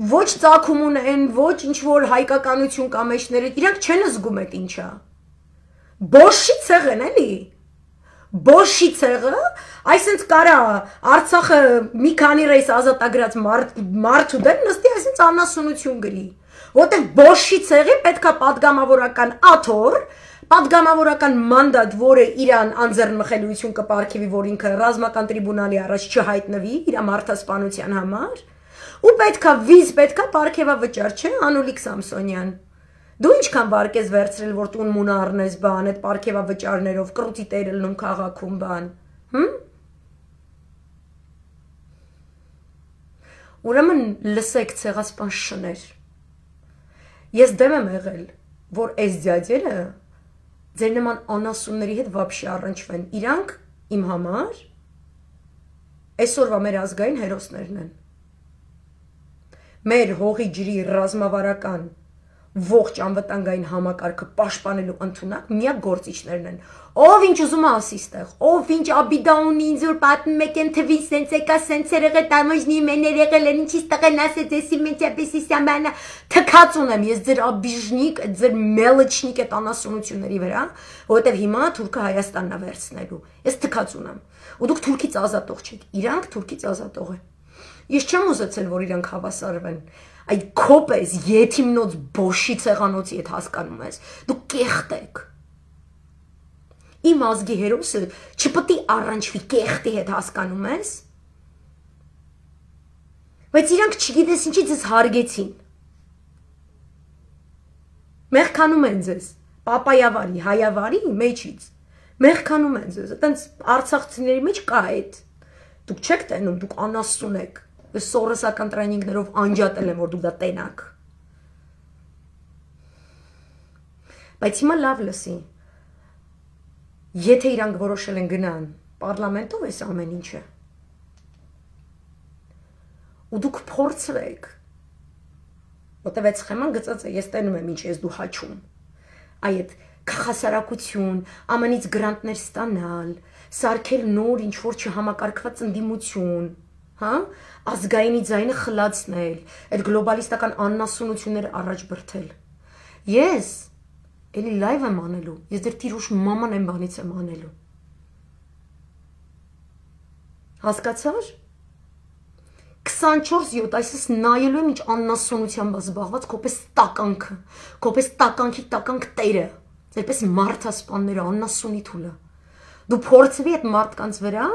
Ոչ ծագում ունեն, ոչ ինչ որ հայկականություն կամ էջները, իրանք չեն զգում այդ ինչա։ Բոշի ցեղ են, էլի։ Բոշի ցեղը, այսինքն կարա Արցախը մի քանի ռեյս ազատագրած մարդու դեմ նստի, այսինքն անասունություն գրի։ Որտեղ բոշի ցեղի պետքա падգամավորական աթոռ, падգամավորական մանդատ, որը իրան անձեռնմխելիություն կպարգևի, որ ինքը ռազմական տրիբունալի առաջ չհայտնվի իր մարդասպանության համար։ Ու պետքա վիզ պետքա պարգևավճար, չէ, Անուլիկ Սամսոնյան։ Դու ինչքան վարկ ես վերցրել, որ տուն մուն առնես բան, այդ պարգևավճարներով կրուտի տեր ելնում քաղաքում բան, հմ։ Ուրեմն լսեք ցեղասպան շներ։ Ես դեմ եմ եղել, որ այս ձյաձերը ձեր նման անասունների հետ վաբշի առնչվեն։ Իրանք իմ համար այսօրվա մեր ազգային հերոսներն են։ Մեր հողի ջրի ռազմավարական ողջ անվտանգային համակարգը պաշտպանելու ընդունակ միակ գործիչներն են։ Ով ինչ ուզում է ասի ստեղ, ով ինչ աբիդա ունի, ինձ որ պատմում եք են թվին սենց եկա սենց երեղել տամոժնի մեն երեղել են ինչի ստեղեն ասեց էսի մեջապեսի սամբանա թքած ունեմ ես ձեր աբիժնիկ, ձեր մելչնիկ այդ անասունությունների վրա, որովհետև հիմա թուրքը Հայաստանն է վերցնելու։ Ես թքած ունեմ։ Ու դուք թուրքից ազատող չեք, իրանք թուրքից ազատող են։ Ես չեմ ուզեցել, որ իրանք հավասարվեն։ Այդ քոպես եթիմնոց բոշի ցեղանոցի հետ հասկանում ես, դու կեղտ եք։ Իմ ազգի հերոսը չպետք է առնչվի կեղտի հետ հասկանում ես։ Բայց իրանք չգիտես ինչի ձեզ հարգեցին։ Մեղքանում են ձեզ, պապայավարի, հայավարի մեջից։ Մեղքանում են ձեզ, այտենց արցախցիների մեջ կա այդ։ Դուք չեք տենում, դուք անասուն եք։ Ես սորոսական տրեյնինգներով անջատել եմ, որ դուք դա տենաք։ Բայց հիմա լավ լսի։ Եթե իրանք որոշել են գնան, պարլամենտով էս ամեն ինչը։ Ու դուք փորձրեք։ Որտեւ այդ սխեման գծած է, ես տենում եմ ինչ ես դու հաչում։ Այդ քաղաքասարակություն, ամանից գրանտներ ստանալ, սարքել նոր ինչ որ չհամակարգված ընդդիմություն, հա, ազգայինի ձայնը խլացնել, այդ գլոբալիստական աննասունությունները առաջ բրթել։ Ես էլի լայվ եմ անելու, ես դեռ տիրուշ մաման եմ բանից եմ անելու։ Հասկացար։ քսանչորս յոթ այսպես նայելու եմ ինչ աննասունությամբ զբաղված, քոպես տականքը, քոպես տականքի տականք տերը, ձերպես մարդասպանները, աննասունի թուլը։ Դու փորձվի այդ մարդկանց վրա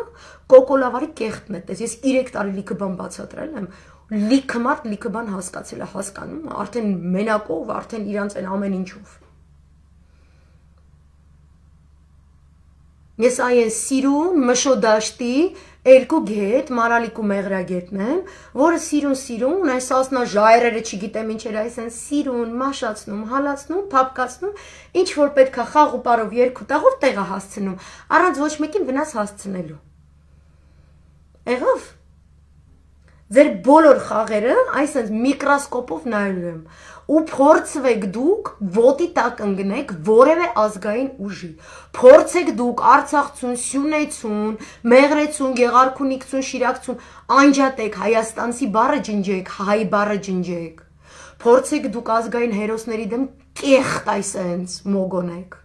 կոկոլավարի կեղտն է, ես երեք տարի լիքը բան բացատրել եմ, լիքը մարդ լիքը բան հասկացել է, հասկանում, արդեն մենակով, արդեն իրանց են ամեն ինչով։ Ես այն սիրուն մշոդաշտի երկու գետ, մարալիկու մեղրագետն եմ, որը սիրուն սիրուն, այս ասնա ժայրերը չգիտեմ ինչեր այս են սիրուն, մաշացնում, հալացնում, փապկացնում, ինչ որ պետք է խաղ ու պարով երկու տաղով տեղը հասցնում, առանց ոչ մեկին վնաս հասցնելու։ Եղավ։ Ձեր բոլոր խաղերը այսպես միկրոսկոպով նայելու եմ ու փորձվեք դուք ոտի տակ ընկնեք որևէ ազգային ուժի։ Փորձեք դուք Արցախցուն, Սյունեցուն, Մեղրեցուն, Գեղարքունիքցուն, Շիրակցուն անջատեք Հայաստանցի բառը ջնջեք, հայ բառը ջնջեք։ Փորձեք դուք ազգային հերոսների դեմ կեղտ այսենց մոգոնեք։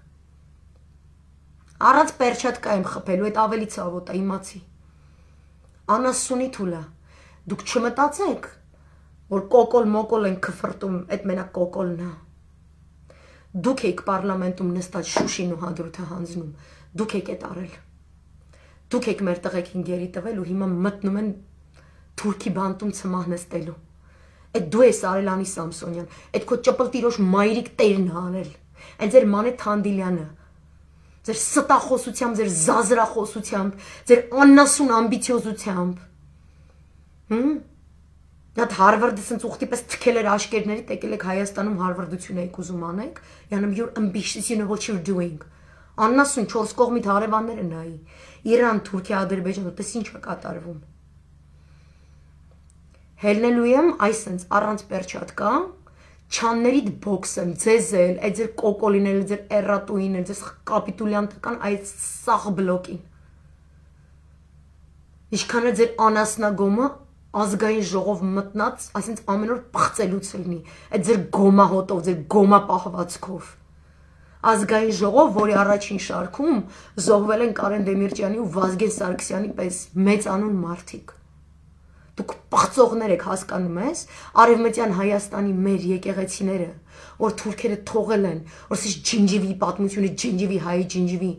Առանց պերչատկա եմ խփելու, այդ ավելի ցավոտ է, իմացի։ Անասունի թուլա։ Դուք չմտածեք, որ կոկոլ մոկոլ են քֆրտում, այդ մենակ կոկոլն է։ Դուք եք պարլամենտում նստած Շուշին ու Հադրութը հանձնում, դուք եք այդ արել։ Դուք եք մեր տղեկին գերի տվել ու հիմա մտնում են թուրքի բանտում ցմահ նստելու։ Այդ դու ես արել Անի Սամսոնյան, այդ քո ճպլտիրոջ մայրիկ տերն է արել։ Այդ ձեր Մանե Թանդիլյանը, ձեր ստախոսությամբ, ձեր զազրախոսությամբ, ձեր աննասուն ամբիցիոզությամբ։ Հմ Նատ Հարվարդը սենց ուխտի պես թքել էր աշկերների, տեկել եք Հայաստանում հարվարդություն եք ուզում անեք, յանım you're ambitious, you know what you're doing։ Աննասուն չորս կողմիդ հարևանները նայի, Իրան, Թուրքիա, Ադրբեջան, տես ինչ է կատարվում։ Հելնելու եմ այսենց առանց պերչատկա, չաններիդ բոքսեմ, ձեզել, այդ ձեր կոկոլինել, ձեր էրատուինել, ձեզ կապիտուլյանտական այդ սաղ բլոկին։ Ինչքան է ձեր անասնագոմը ազգային ժողով մտնած, այսինքն ամեն օր պղծելուց լինի, այդ ձեր գոմահոտով, ձեր գոմա պահվածքով։ Ազգային ժողով, որի առաջին շարքում զոհվել են Կարեն Դեմիրճյանի ու Վազգեն Սարգսյանի պես մեծանուն մարդիկ։ Դուք պղծողներ եք, հասկանում ես, Արևմտյան Հայաստանի մեր եկեղեցիները, որ թուրքերը թողել են, որ սիշ ջինջիվի պատմությունը, ջինջիվի հայի ջինջիվի,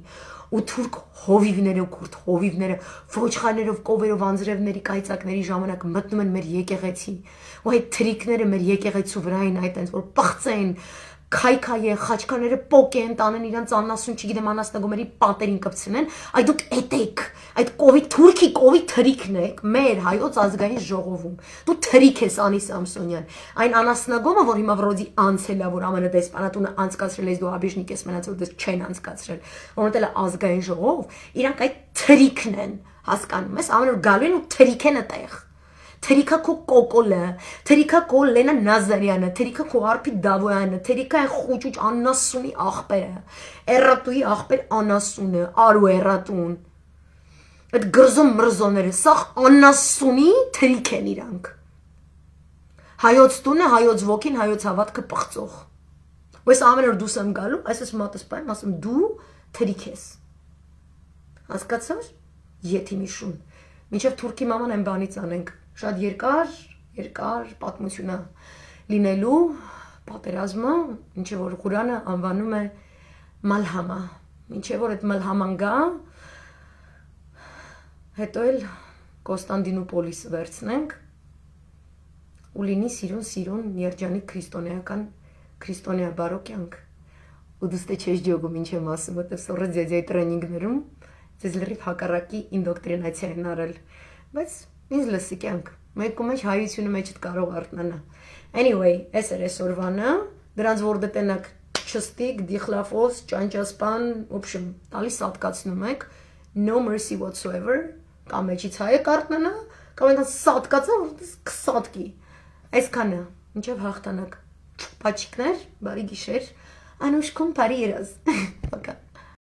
ու թուրք հովիվները, քուրդ հովիվները, ոչխարներով, կովերով, անձրևների, կայծակների ժամանակ մտնում են մեր եկեղեցի, ու այդ թրիկները մեր եկեղեցու վրա են այդ այնց, որ պղծեն, քայքայեն, խաչկաները պոկեն, տանեն իրանց աննասուն, չգիտեմ, անասնագոմերի պատերին կպցնեն, այդ դուք էդ եք, այդ կովի, թուրքի կովի թրիկն եք, մեր հայոց ազգային ժողովում, դու թրիկ ես Անի Սամսոնյան, այն անասնագոմը, որ հիմա վրոդի անցել է, որ ամենը դեսպանատունը անցկացրել ես դու աբիժնիկ ես մնացել, դες չեն անցկացրել, որոնտել է ազգային ժողով, իրանք այդ թրիկն են, հասկանում ես, ամեն օր գալու են ու թրիկ են այդտեղ։ Թերիկա քո կոկոլը, թերիկա քո Լենա Նազարյանը, թերիկա քո Արփի Դավոյանը, թերիկա այն խուճուճ աննասունի աղբերը, էրատուի աղբեր անասունը, արու էրատուն։ Այդ գրզում մրզոները, սա աննասունի թերիկ են իրանք։ Հայոց տունը, հայոց ոգին, հայոց հավատքը պղծող։ Ու ես ամեն օր դուս եմ գալու, այսպես մատս պայմ, ասում դու թերիկ ես։ Հասկացար։ Եթիմի շուն։ Մինչև թուրքի մաման են բանից անենք։ Շատ երկար երկար պատմություն է լինելու պատերազմը, ինչը որ Ղուրանը անվանում է մալհամա, ինչը որ այդ մալհաման գա, հետո էլ Կոստանդինուպոլիս վերցնենք ու լինի սիրուն սիրուն երջանիկ քրիստոնեական քրիստոնյա բարոկյանք ու դուստե չես ջոգում ինչ եմ ասում, որտեղ սորը ձեզի տրեյնինգներում ձեզ լրիվ հակառակի ինդոկտրինացիա են արել, բայց ինձ լսի կյանք, մեկու մեջ հայությունը մեջդ կարող արտնանա։ Anyway, այս էր այսօրվանը, դրանց որ դտենակ չստիկ, դիխլաֆոս, ճանճասպան, ոբշմ, տալիս սատկացնում եք, no mercy whatsoever, կամ մեջից հայ եք արտնանա, կամ այնքան սատկացա, որտես կսատկի։ Այսքանը, ինչև հաղթանակ, պաչիկներ, բարի գիշեր, անուշքում բարի երազ։